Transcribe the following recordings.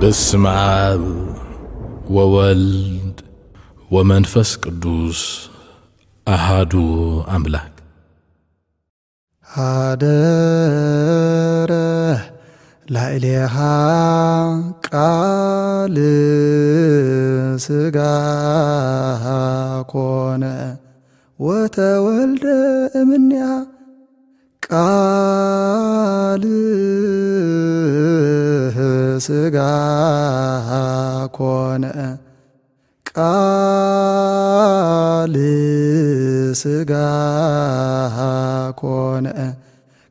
በስመ አብ ወወልድ ወመንፈስ ቅዱስ አሃዱ አምላክ። ሀደረ ላዕሌሃ ቃል ሥጋ ኮነ ወተወልደ እምኔሃ ቃል ሥጋ ኮነ ቃል ሥጋ ኮነ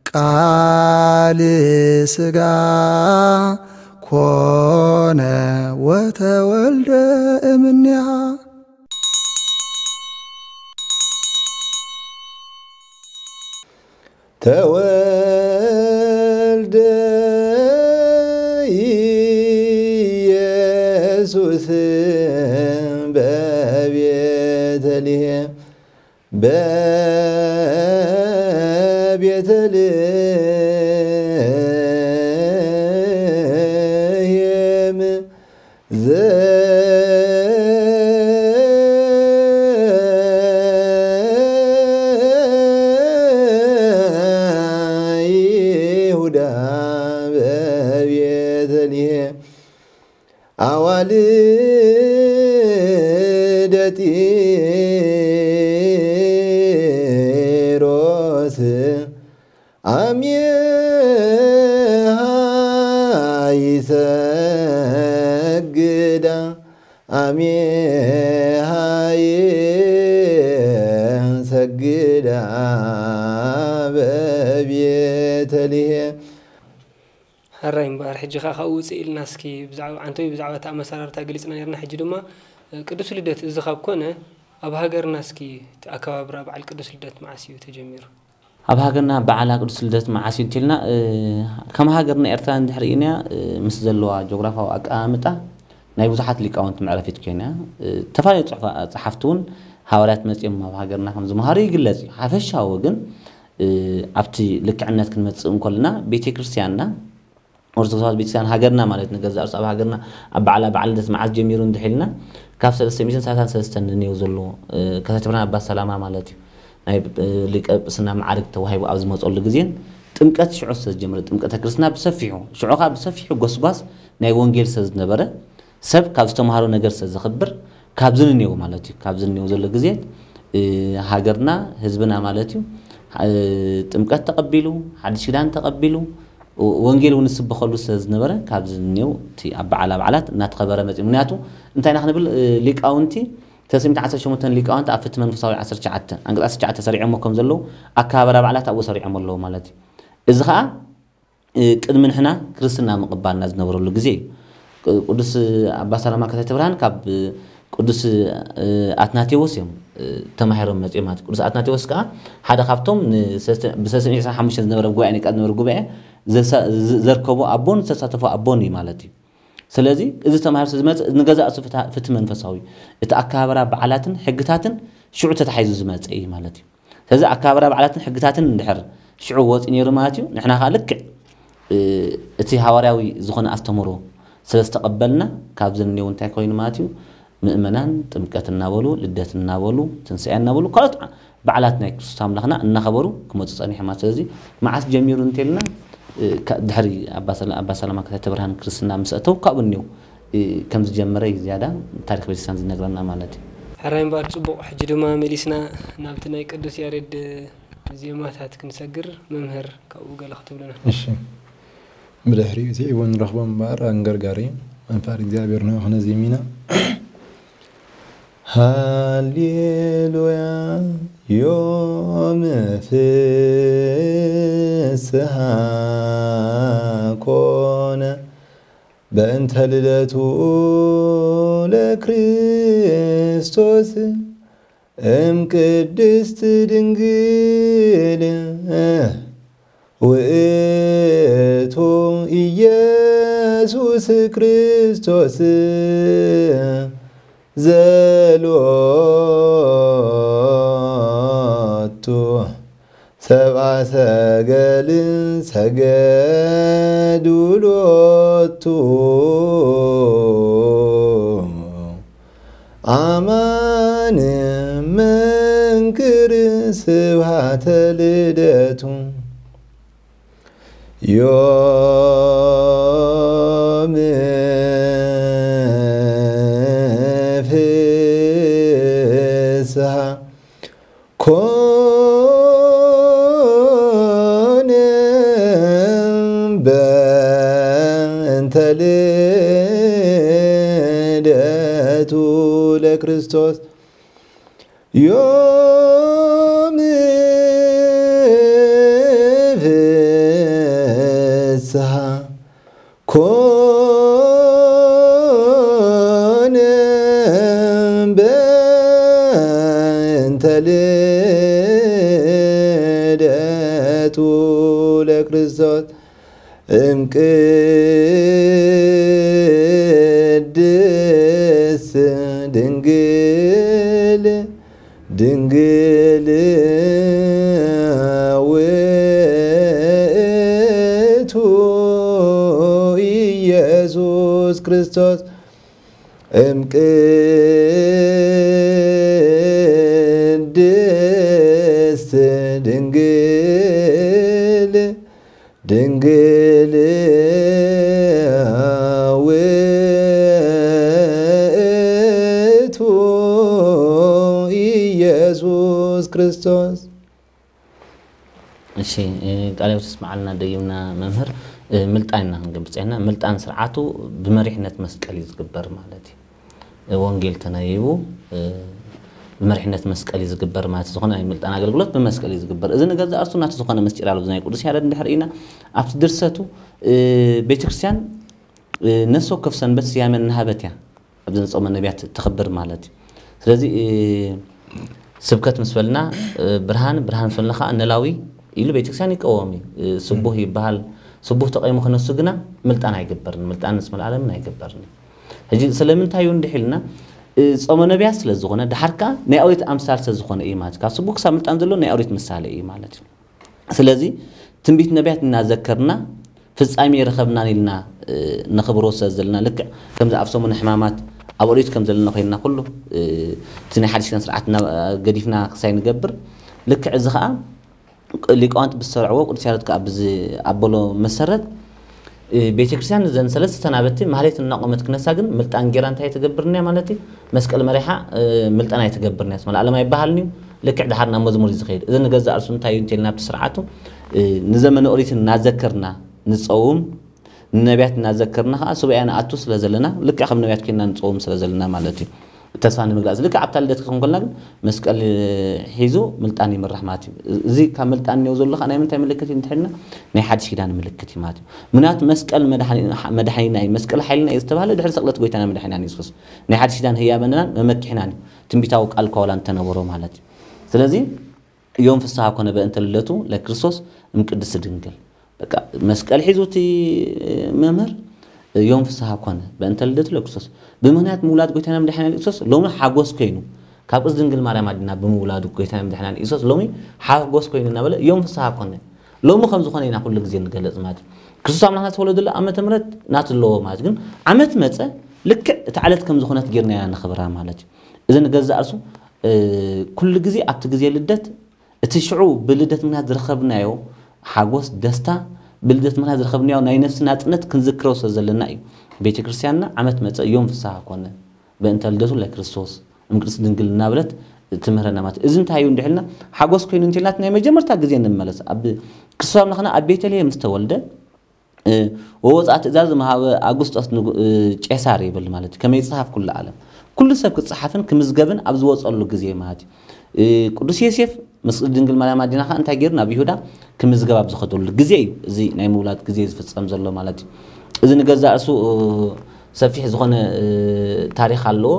ቃል ሥጋ ኮነ ወተወልደ እምኔሃ። ተወልደ ኢየሱስ በቤተልሔም በቤተልሔም ዘይሁዳ በቤተልሔም አዋልደ ጢሮስ አሜሃ ይሰግዳ አሜሃ ይሰግዳ በቤተልሔም። ሕራይ እምበኣር፣ ሕጂ ኸኣ ካብኡ ውፅእ ኢልና እስኪ ብዛዕባ፣ ዓንተዊ ብዛዕባ እቲ ኣመሰራርታ ገሊፅና ነርና። ሕጂ ድማ ቅዱስ ልደት እዚ ካብ ኮነ፣ ኣብ ሃገርና እስኪ እቲ ኣከባብራ በዓል ቅዱስ ልደት መዓስ እዩ ተጀሚሩ? ኣብ ሃገርና በዓላ ቅዱስ ልደት መዓስ እዩ እንተልና፣ እ፣ ከም ሃገርና ኤርትራ እንድሕር ኢና፣ እ፣ ምስ ዘለዋ ጂኦግራፋዊ ኣቀማምጣ ናይ ብዙሓት ሊቃውንቲ መዕረፊት ኮይና፣ እ፣ ዝተፈላለዩ ጽሑፋ-፣ ጸሓፍቲ እውን ሃዋርያት መጺኦም ኣብ ሃገርና ከም ዝመሃሩ ይግለጽ እዩ። ሓፈሻዊ ግን፣ እ፣ ኣብቲ ልክዕነት ክንመጽእ እንከለና ቤተ ክርስቲያንና ኦርቶዶክሳዊት ቤተክርስትያን ሃገርና ማለት ንገዛእ ርእሱ ኣብ ሃገርና ኣብ በዓላ በዓል ልደት መዓዝ ጀሚሩ እንድሒልና ካብ ሰለስተ ሚእትን ሰላሳን ሰለስተን ንኔው ዘሎ፣ እ፣ ከተትብና ኣባ ሰላማ ማለት እዩ። ናይ፣ እ፣ ሊቀ ጵስና መዓርግ ተዋሂቡ ኣብ ዝመጸሉ ግዜን ጥምቀት ሽዑ ስለ ዝጀመረ ጥምቀተ ክርስትና ብሰፊሑ ሽዑ ከዓ ብሰፊሑ ጎስጓስ ናይ ወንጌል ስለ ዝነበረ ሰብ ካብ ዝተምሃሮ ነገር ስለ ዘኽብር ካብዚ ንኔው ማለት እዩ። ካብዚ ንኔው ዘሎ ግዜ፣ እ፣ ሃገርና ህዝብና ማለት እዩ፣ እ፣ ጥምቀት ተቐቢሉ ሓድሽ ኪዳን ተቐቢሉ ወንጌል እውን ዝስበኸሉ ስለ ዝነበረ ካብዚ እኒው እቲ ኣብ በዓላ በዓላት እናተኸበረ መፅኡ። ምክንያቱ እንታይ ኢና ክንብል፣ እ፣ ሊቃውንቲ ተስሚት ዓሰርተ ሸሞንተ ሊቃውንቲ ኣብ ፍትሒ መንፈሳዊ ዓሰርተ ትሽዓተ፣ ኣንቀጽ ዓሰርተ ትሽዓተ ሰሪዖሞ ከም ዘለዉ ኣከባበራ በዓላት ኣብኡ ሰሪዖም ኣለዉ ማለት እዩ። እዚ ኸዓ፣ እ፣ ቅድሚ ንሕና ክርስትና ምቕባልና ዝነበረሉ ግዜ እዩ። ቅ-፣ ቅዱስ ኣባ ሰላማ ከተተ ብርሃን ካብ ቅዱስ፣ እ፣ ኣትናቴዎስ እዮም፣ እ፣ ተማሂሮም መጺኦም ማለት እዩ። ቅዱስ ኣትናቴዎስ ከኣ ሓደ ካብቶም ንሰለስተ፣ ብሰለስተ ሚእቲ ዕስራን ሓሙሽተን ዝነበረ ጉባኤ ኒቃ ዝነበረ ጉባኤ ዘሳ-፣ ዘ-፣ ዘርከቦ ኣቦን ዝተሳተፎ ኣቦን እዩ ማለት እዩ። ስለዚ እዚ ተማሂሩ ዝመጽእ ንገዛእ ርእሱ ፍትሃ-፣ ፍትሒ መንፈሳዊ እዩ። እቲ ኣከባብራ በዓላትን ሕግታትን ሽዑ ተታሒዙ ዝመጽእ እዩ ማለት እዩ። ስለዚ ኣከባብራ በዓላትን ሕግታትን እንድሕር ሽዑ ወፂኡ ነይሩ ማለት እዩ። ንሕና ከዓ ልክዕ፣ እ፣ እቲ ሃዋርያዊ ዝኾነ ኣስተምህሮ ስለ ዝተቐበልና ካብዚ እኒኦ እንታይ ኮይኑ ማለት እዩ? ምእመናን ጥምቀት እናበሉ፣ ልደት እናበሉ፣ ትንሳኤ እናበሉ፣ ካልኦት በዓላት ናይ ክርስቶስ ኣምላኽና እናኸበሩ ክመፁ ፀኒሖም ማለት። ስለዚ መዓስ ጀሚሩ እንተልና፣ እ፣ ካ-፣ ድሕሪ ኣባ ሰላ-፣ ኣባ ሰላማ ከተተ ብርሃን ክርስትና ምስ ኣተው ካብኡ እኒኦ፣ እ፣ ከም ዝጀመረ እዩ ዝያዳ ታሪኽ ቤተክርስትያን ዝነግረና ማለት እዩ። ሕራይ እምበኣር ጽቡቕ። ሕጂ ድማ መሊስና ናብቲ ናይ ቅዱስ ያሬድ ዜማታት ክንሰግር፣ መምህር ካብኡ ገለ ክትብሉና። እሺ። ብድሕሪኡ ስዒቡ ንረኽቦ እምበኣር ኣንገርጋሪ እዩ። ኣንፋር እግዚኣብሔር ንዑ ክነዜም ኢና። ሃሌሉያ ዮም ፍስሃ ኮነ በእንተ ልደቱ ለክርስቶስ እም ቅድስት ድንግል ውእቱ ኢየሱስ ክርስቶስ ዘሎቱ ሰብአ ሰገል ሰገዱ ሎቱ አማን መንክር ስብሐተ ልደቱ። ዮም ፍስሐ ኮነ በእንተ ልደቱ ለክርስቶስ። ዮም ፍስሐ ኮነ በእንተ ልደቱ ለክርስቶስ። እምቅድስት ድንግል ድንግል ውእቱ ኢየሱስ ክርስቶስ። እምቅድስት ድንግል ድንግል ውእቱ ኢየሱስ ክርስቶስ። እሺ፣ ቃለ ሕይወት ይስምዓልና ደጊምና መምህር። ምልጣን ኢና ክንገብር ጸኒሕና። ምልጣን ስርዓቱ ብመሪሕነት መስቀል እዩ ዝግበር ማለት እዩ። ወንጌል ተነቢቡ ብመሪሕነት መስቀል እዩ ዝግበር ማለት እዩ። ዝኾነ ናይ ምልጣን ኣገልግሎት ብመስቀል እዩ ዝግበር። እዚ ንገዛእ ርእሱ ናቱ ዝኾነ ምስጢር ኣሎ። እዚ ናይ ቅዱስ ያሬድ እንድሕር ኢና ኣብቲ ድርሰቱ ቤተክርስትያን ነፍሲ ወከፍ ሰንበት ስያመ እናሃበት እያ ኣብዚ ጾመ ነቢያት ተኽብር ማለት እዩ። ስለዚ ስብከት ምስ በልና ብርሃን ብርሃን ምስ በልና ከዓ ነላዊ ኢሉ ቤተክርስትያን ይቀወም እዩ። ስቡህ ይበሃል። ስቡህ ተቐይሙ ክነሱ ግና ምልጣን ኣይግበርን። ምልጣን ምስ መልኣለምን ኣይግበርን። ሕጂ ስለምንታይ እዩ እንድሕ ኢልና ጾመ ነቢያት ስለ ዝኾነ ድሓር ከዓ ናይ ኦሪት ኣምሳል ስለ ዝኾነ እዩ ማለት እዩ። ካብ ስቡህ ክሳብ ምልጣን ዘሎ ናይ ኦሪት ምሳሌ እዩ ማለት እዩ። ስለዚ ትንቢት ነቢያት እናዘከርና ፍጻሜ ረኸብናን ኢልና ነኽብሮ ስለ ዘለና ልክዕ ከምዚ ኣብ ሰሙን ሕማማት ኣብ ኦሪት ከም ዘለና ኮይንና ኩሉ እቲ ናይ ሓዲሽ ኪዳን ስርዓትና ገዲፍና ክሳይ ንገብር ልክዕ እዚ ከዓ ሊቃውንት ብዝሰርዕዎ ቅዱስ ያሬድ ከዓ ብዝኣበሎ መሰረት ቤተክርስትያን ዘን ሰለስተ ሰናበቲ ማህሌት እናቆመት ክነሳ ግን ምልጣን ጌራ እንታይ ትገብርንያ ማለት እዩ? መስቀል መሪሓ ምልጣን ኣይትገብርንያ። ስመ ለዓለም ኣይበሃልን እዩ። ልክዕ ድሓር ናብ መዝሙር እዩ ዝኸይድ። እዚ ንገዛእ ርእሱ እንታይ እዩ እንተልና ኣብቲ ስርዓቱ ንዘመነ ኦሪት እናዘከርና ንፀውም ንነቢያት እናዘከርና ከዓ ሱባኤ ንኣቱ ስለ ዘለና ልክዕ ከም ነቢያት ኮይንና ንፀውም ስለ ዘለና ማለት እዩ። ተስፋ ንምግላፅ ልክዕ ኣብታ ልደት ክትኮን ከልና ግን መስቀል ሒዙ ምልጣን ይምራሕ ማለት እዩ። እዚ ካብ ምልጣን እኒኦ ዘሎ ከዓ ናይ ምንታይ ምልክት እዩ እንተልና ናይ ሓድሽ ኪዳን ምልክት እዩ ማለት እዩ። ምክንያቱ መስቀል መድሓኒና እዩ፣ መስቀል ሓይልና እዩ ዝተባህለ ድሕሪ ስቕለት ጎይታና መድሓኒና የሱስ ናይ ሓድሽ ኪዳን ህያበናን መመክሒናን እዩ። ትንቢታዊ ቃል ከዋላ እንተነበሮ ማለት እዩ። ስለዚ ዮም ፍስሐ ኮነ በእንተ ልደቱ ለክርስቶስ እምቅድስት ድንግል በቃ መስቀል ሒዙ እቲ መምህር ዮም ፍስሐ ኮነ በእንተ ልደቱ ለክርስቶስ ብምክንያት ምውላድ ጎይታና መድሓኒና ኢየሱስ ሎሚ ሓጎስ ኮይኑ ካብ ቅድስት ድንግል ማርያም ኣዲና ብምውላዱ ጎይታና መድሓኒና ኢየሱስ ሎሚ ሓጎስ ኮይኑ እናበለ ዮም ፍስሐ ኮነ። ሎሚ ከም ዝኾነ ኢና ኩሉ ግዜ ንገልጽ ማለት እዩ። ክርስቶስ ኣምላኽና ዝተወለደሉ ዓመተ ምሕረት ናቱ ኣለዎ ማለት ግን ዓመት መጸ ልክዕ እቲ ዕለት ከም ዝኾነት ጌርና ኢና ነኽብራ ማለት እዩ። እዚ ንገዛእ ርእሱ ኩሉ ግዜ ኣብቲ ግዜ ልደት እቲ ሽዑ ብልደት ምኽንያት ዝረኸብናዮ ሓጎስ ደስታ ብልደት ምኽንያት ዝረኸብናዮ ናይ ነፍሲ ናጽነት ክንዝክሮ ስለ ዘለና እዩ። ቤተ ክርስቲያንና ዓመት መጸ ዮም ፍስሐ ኮነ በእንተ ልደቱ ለክርስቶስ እምቅድስት ድንግል እናበለት ትምህረና ማለት እዚ እንታይ እዩ እንድሕልና ሓጎስ ኮይኑ እንተልናት ናይ መጀመርታ ግዜ ንመለስ ኣብ ክርስቶስ ኣምላኽና ኣብ ቤተልሔም ዝተወልደ ወወፅኣ ትእዛዝ መሃበ ኣጉስጦስ ቄሳር ይብል ማለት እዩ። ከመይ ይፅሓፍ ኩሉ ዓለም ኩሉ ሰብ ክፅሓፍን ክምዝገብን ኣብ ዝወፀሉ ግዜ ማለት እዩ። ቅዱስ ዮሴፍ ምስ ድንግል ማርያም ኣዲና ከዓ እንታይ ገይሩ ናብ ይሁዳ ክምዝገብ ኣብ ዝኸደሉ ግዜ እዩ እዚ ናይ ምውላድ ግዜ ዝፍፀም ዘሎ ማለት እዩ። እዚ ንገዛእ እሱ ሰፊሕ ዝኾነ ታሪክ ኣለዎ።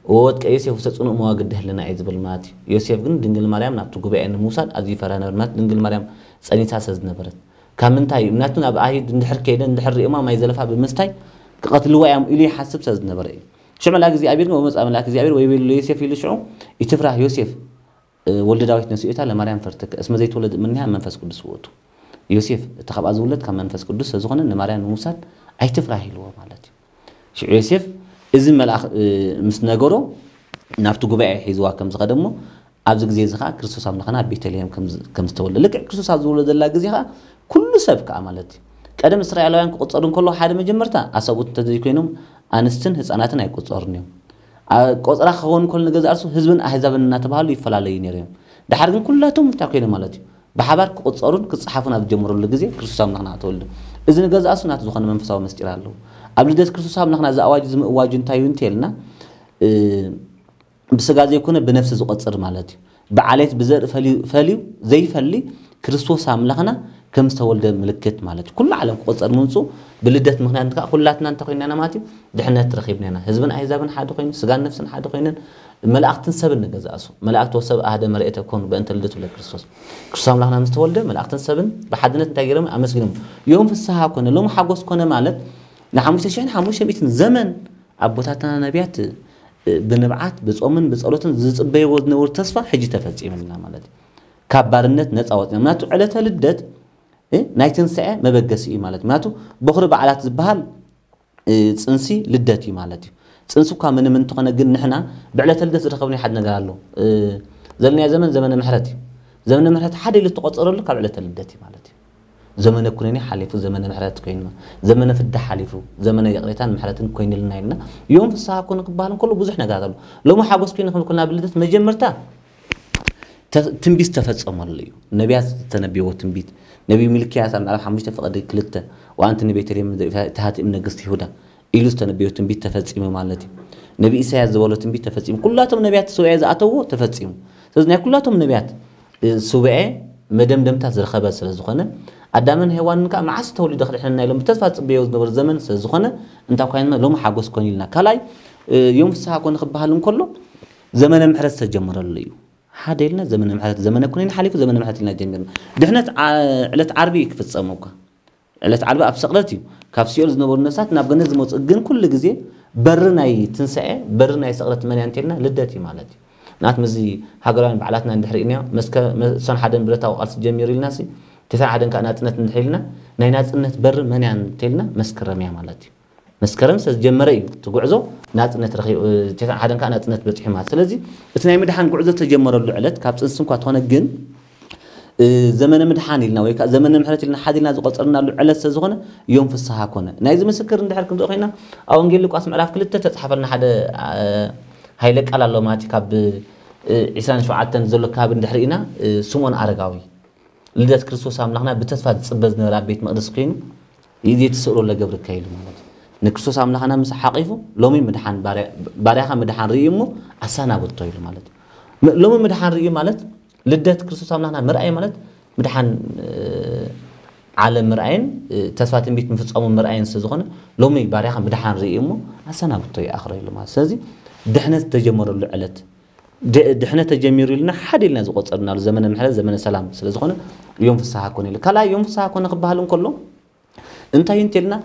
ወወጥቀ ዮሴፍ ውስተ ጽኑዕ መዋግድ ህልና እዩ ዝብል ማለት እዩ። ዮሴፍ ግን ድንግል ማርያም ናብቲ ጉባኤ ንምውሳድ ኣዝዩ ይፈርህ ነበር ማለት ድንግል ማርያም ጸኒሳ ስለ ዝነበረት ካብ ምንታይ እዩ ምክንያቱ ናብ ኣይሁድ እንድሕር ከይደ እንድሕር ሪኦማ ማይ ዘለፋ ብምስታይ ክቐትልዋ እዮም ኢሉ ይሓስብ ስለ ዝነበረ እዩ። ሽዑ መልኣክ እግዚኣብሔር ግን ወመፅኣ መልኣክ እግዚኣብሔር ወይቤሎ ለዮሴፍ ኢሉ ሽዑ ይትፍራህ ዮሴፍ ወልደ ዳዊት ነስእታ ለማርያም ፈርትከ እስመ ዘይትወለድ እምኔሃ መንፈስ ቅዱስ ውእቱ። ዮሴፍ እቲ ካብኣ ዝውለድ ካብ መንፈስ ቅዱስ ስለዝኾነ ንማርያም ንምውሳድ ኣይትፍራህ ኢልዎ ማለት እዩ። ሽዑ ዮሴፍ እዚ መልኣኽ ምስ ነገሮ ናብቲ ጉባኤ ሒዝዋ ከም ዝኸደ እሞ ኣብዚ ግዜ እዚ ከዓ ክርስቶስ ኣምላኽና ኣብ ቤተልሔም ከም ዝተወለደ ልክዕ ክርስቶስ ኣብ ዝወለደላ ግዜ ከዓ ኩሉ ሰብ ከዓ ማለት እዩ። ቀደም እስራኤላውያን ክቁፀሩ እንከለዉ ሓደ መጀመርታ ኣሳብኡት እንተዘይኮይኖም ኣንስትን ህፃናትን ኣይቁፀሩን እዮም። ቆፅራ ክኸውን ከሎ ንገዛእ ርሱ ህዝብን ኣህዛብን እናተባሃሉ ይፈላለዩ ነይሮም። ድሓር ግን ኩላቶም እንታይ ኮይኖም ማለት እዩ ብሓባር ክቁፀሩን ክፀሓፉን ኣብ ዝጀመረሉ ግዜ ክርስቶስ ኣምላኽና ተወልደ። እዚ ንገዛእ ርሱ ናቱ ዝኾነ መንፈሳዊ መስጢር ኣለዎ። ኣብ ልደት ክርስቶስ ኣምላኽና እዚ ኣዋጅ እዚ ምእዋጁ እንታይ እዩ እንተልና ብስጋ ዘይኮነ ብነፍሲ ዝቆፅር ማለት እዩ። ብዓሌት ብዘርኢ ፈልዩ ዘይፈሊ ክርስቶስ ኣምላኽና ከም ዝተወልደ ምልክት ማለት እዩ። ኩሉ ዓለም ክቆፀር ምምፁ ብልደት ምክንያት ከዓ ኩላትና እንተኮይንና ማለት እዩ ድሕነት ረኺብና ኢና። ህዝብን ኣህዛብን ሓደ ኮይኑ ስጋን ነፍስን ሓደ ኮይነን መላእክትን ሰብን ንገዛእሱ መላእክት ወሰብ ኣህደ መርኤተ ኮኑ በእንተ ልደቱ ለክርስቶስ። ክርስቶስ ኣምላኽና ምስ ተወልደ መላእክትን ሰብን ብሓድነት እንታይ ገይሮም ኣመስጊኖም። ዮም ፍስሓ ኮነ ሎም ሓጎስ ኮነ ማለት ንሓሙሽተ ሽሕን ሓሙሽተ ሚእትን ዘመን ኣቦታትና ነቢያት ብንብዓት ብጾምን ብጸሎትን ዝጽበይዎ ዝነበሩ ተስፋ ሕጂ ተፈጺሙልና ማለት እዩ። ካብ ባርነት ነጻ ወጽና ምክንያቱ ዕለተ ልደት ናይ ትንስዐ መበገሲ እዩ ማለት ምክንያቱ በኹሪ በዓላት ዝበሃል ፅንሲ ልደት እዩ ማለት እዩ። ፅንሲ እኳ ምንም እንተኾነ ግን ንሕና ብዕለተ ልደት ዝረኸብናዮ ሓደ ነገር ኣሎ። ዘለናዮ ዘመን ዘመነ ምሕረት እዩ። ዘመነ ምሕረት ሓደ ኢሉ ዝተቆፀረሉ ካብ ዕለተ ልደት እዩ ማለት እዩ። ዘመነ ኩነኔ ሓሊፉ ዘመነ ምሕረት ኮይኑ ዘመነ ፍዳ ሓሊፉ ዘመነ ይቕሬታን ምሕረትን ኮይኑልና ኢልና ዮም ፍስሓ ኮነ ክበሃል እንከሎ ብዙሕ ነገራት ኣሎ። ሎሚ ሓጎስ ኮይኑ ክንኩልና ብልደት መጀመርታ ትንቢት ዝተፈጸመሉ እዩ። ነቢያት ዝተነብይዎ ትንቢት ነቢይ ሚልክያስ ኣብ ምዕራፍ ሓሙሽተ ፍቕዲ ክልተ ወኣንቲ ንቤተልሔም ተሃቲ እም ነገስቲ ይሁዳ ኢሉ ዝተነብዮ ትንቢት ተፈጺሙ ማለት እዩ። ነቢ ኢሳያስ ዝበሎ ትንቢት ተፈጺሙ ኩላቶም ነቢያት ሱባኤ ዝኣተውዎ ተፈጺሙ። ስለዚ ናይ ኩላቶም ነቢያት ሱባኤ መደምደምታ ዝረኸበ ስለ ዝኾነ ኣዳምን ሄዋንን ከዓ መዓስ ተወሊዶ ክድሕነና ኢሎም ብተስፋ ዝፅበዮ ዝነበሩ ዘመን ስለ ዝኾነ እንታይ ኮይና ሎሚ ሓጎስ ኮን ኢልና ካልኣይ ዮም ፍስሓ ኮነ ክበሃል እንከሎ ዘመነ ምሕረት ዝተጀመረሉ እዩ። ሓደ ኢልና ዘመነ ምሕረት ዘመነ ኩነን ሓሊፉ ዘመነ ምሕረት ኢልና ጀሚርና። ድሕነት ዕለት ዓርቢ እዩ ክፍፀም እኳ ዕለት ዓርቢ ኣብ ስቕለት እዩ ካብ ሲኦል ዝነበሩ ነፍሳት ናብ ገነት ዝመፁ ግን ኩሉ ግዜ በሪ ናይ ትንሳኤ በሪ ናይ ስቕለት መን እያ እንተልና ልደት እዩ ማለት እዩ። ንኣት ምዚ ሃገራውያን በዓላትና እንድሕር ኢና እሶን ሓደን ብረታዊ ቃልሲ ጀሚሩ ኢልና ሲ ተሳን ሓደን ከዓ ናፅነት እንድሕር ኢልና ናይ ናፅነት በሪ መን እያ እንተልና መስከረም እያ ማለት እዩ። መስከረም ዝተጀመረ እዩ እቲ ጉዕዞ ናፅነት ረኺቡ ተሳን ሓደን ከዓ ናፅነት በፂሑ ማለት ስለዚ እቲ ናይ ምድሓን ጉዕዞ ዝተጀመረሉ ዕለት ካብ ፅንሲ እንኳ ተኾነ ግን ዘመነ ምድሓን ኢልና ወይ ከዓ ዘመነ ምሕረት ኢልና ሓደ ኢልና ዝቆፀርናሉ ዕለት ስለ ዝኾነ ዮም ፍስሓ ኮነ። ናይዚ ምስክር እንድሕር ክንርኢ ኮይና ኣብ ወንጌል ሉቃስ ምዕራፍ ክልተ ተፃሓፈልና ሓደ ሃይለ ቃል ኣሎ ማለት ካብ ዒስራን ሸውዓተን ዘሎ ከባቢ እንድሕር ኢና ስምኦን ኣረጋዊ ልደት ክርስቶስ ኣምላኽና ብተስፋ ዝፅበ ዝነበረ ኣብ ቤት መቅደስ ኮይኑ ይዜ ትስእሮ ለገብርከ ኢሉ ማለት ንክርስቶስ ኣምላኽና ምስ ሓቂፉ ሎሚ ምድሓን ባርያኻ ምድሓን ርእዩ እሞ ኣሳናበቶ ኢሉ ማለት ሎሚ ምድሓን ርእዩ ማለት ልደት ክርስቶስ ኣምላኽና ምርኣይ ማለት ምድሓን ዓለም ምርኣይን ተስፋ ትንቢት ምፍፃሙ ምርኣይን ስለ ዝኾነ ሎሚ ባርያኻ ምድሓን ርእዩ እሞ ኣሰናብቶ ይኣኽሮ ኢሉ ማለት ስለዚ ድሕነት ዝተጀመረሉ ዕለት ድሕነት ተጀሚሩ ኢልና ሓደ ኢልና ዝቆፀርናሉ ዘመነ ምሕረት ዘመነ ሰላም ስለ ዝኾነ እዮም ፍስሓ ኮነ ኢሉ ካልኣይ እዮም ፍስሓ ኮነ ክበሃል እንከሎ እንታይ እንተልና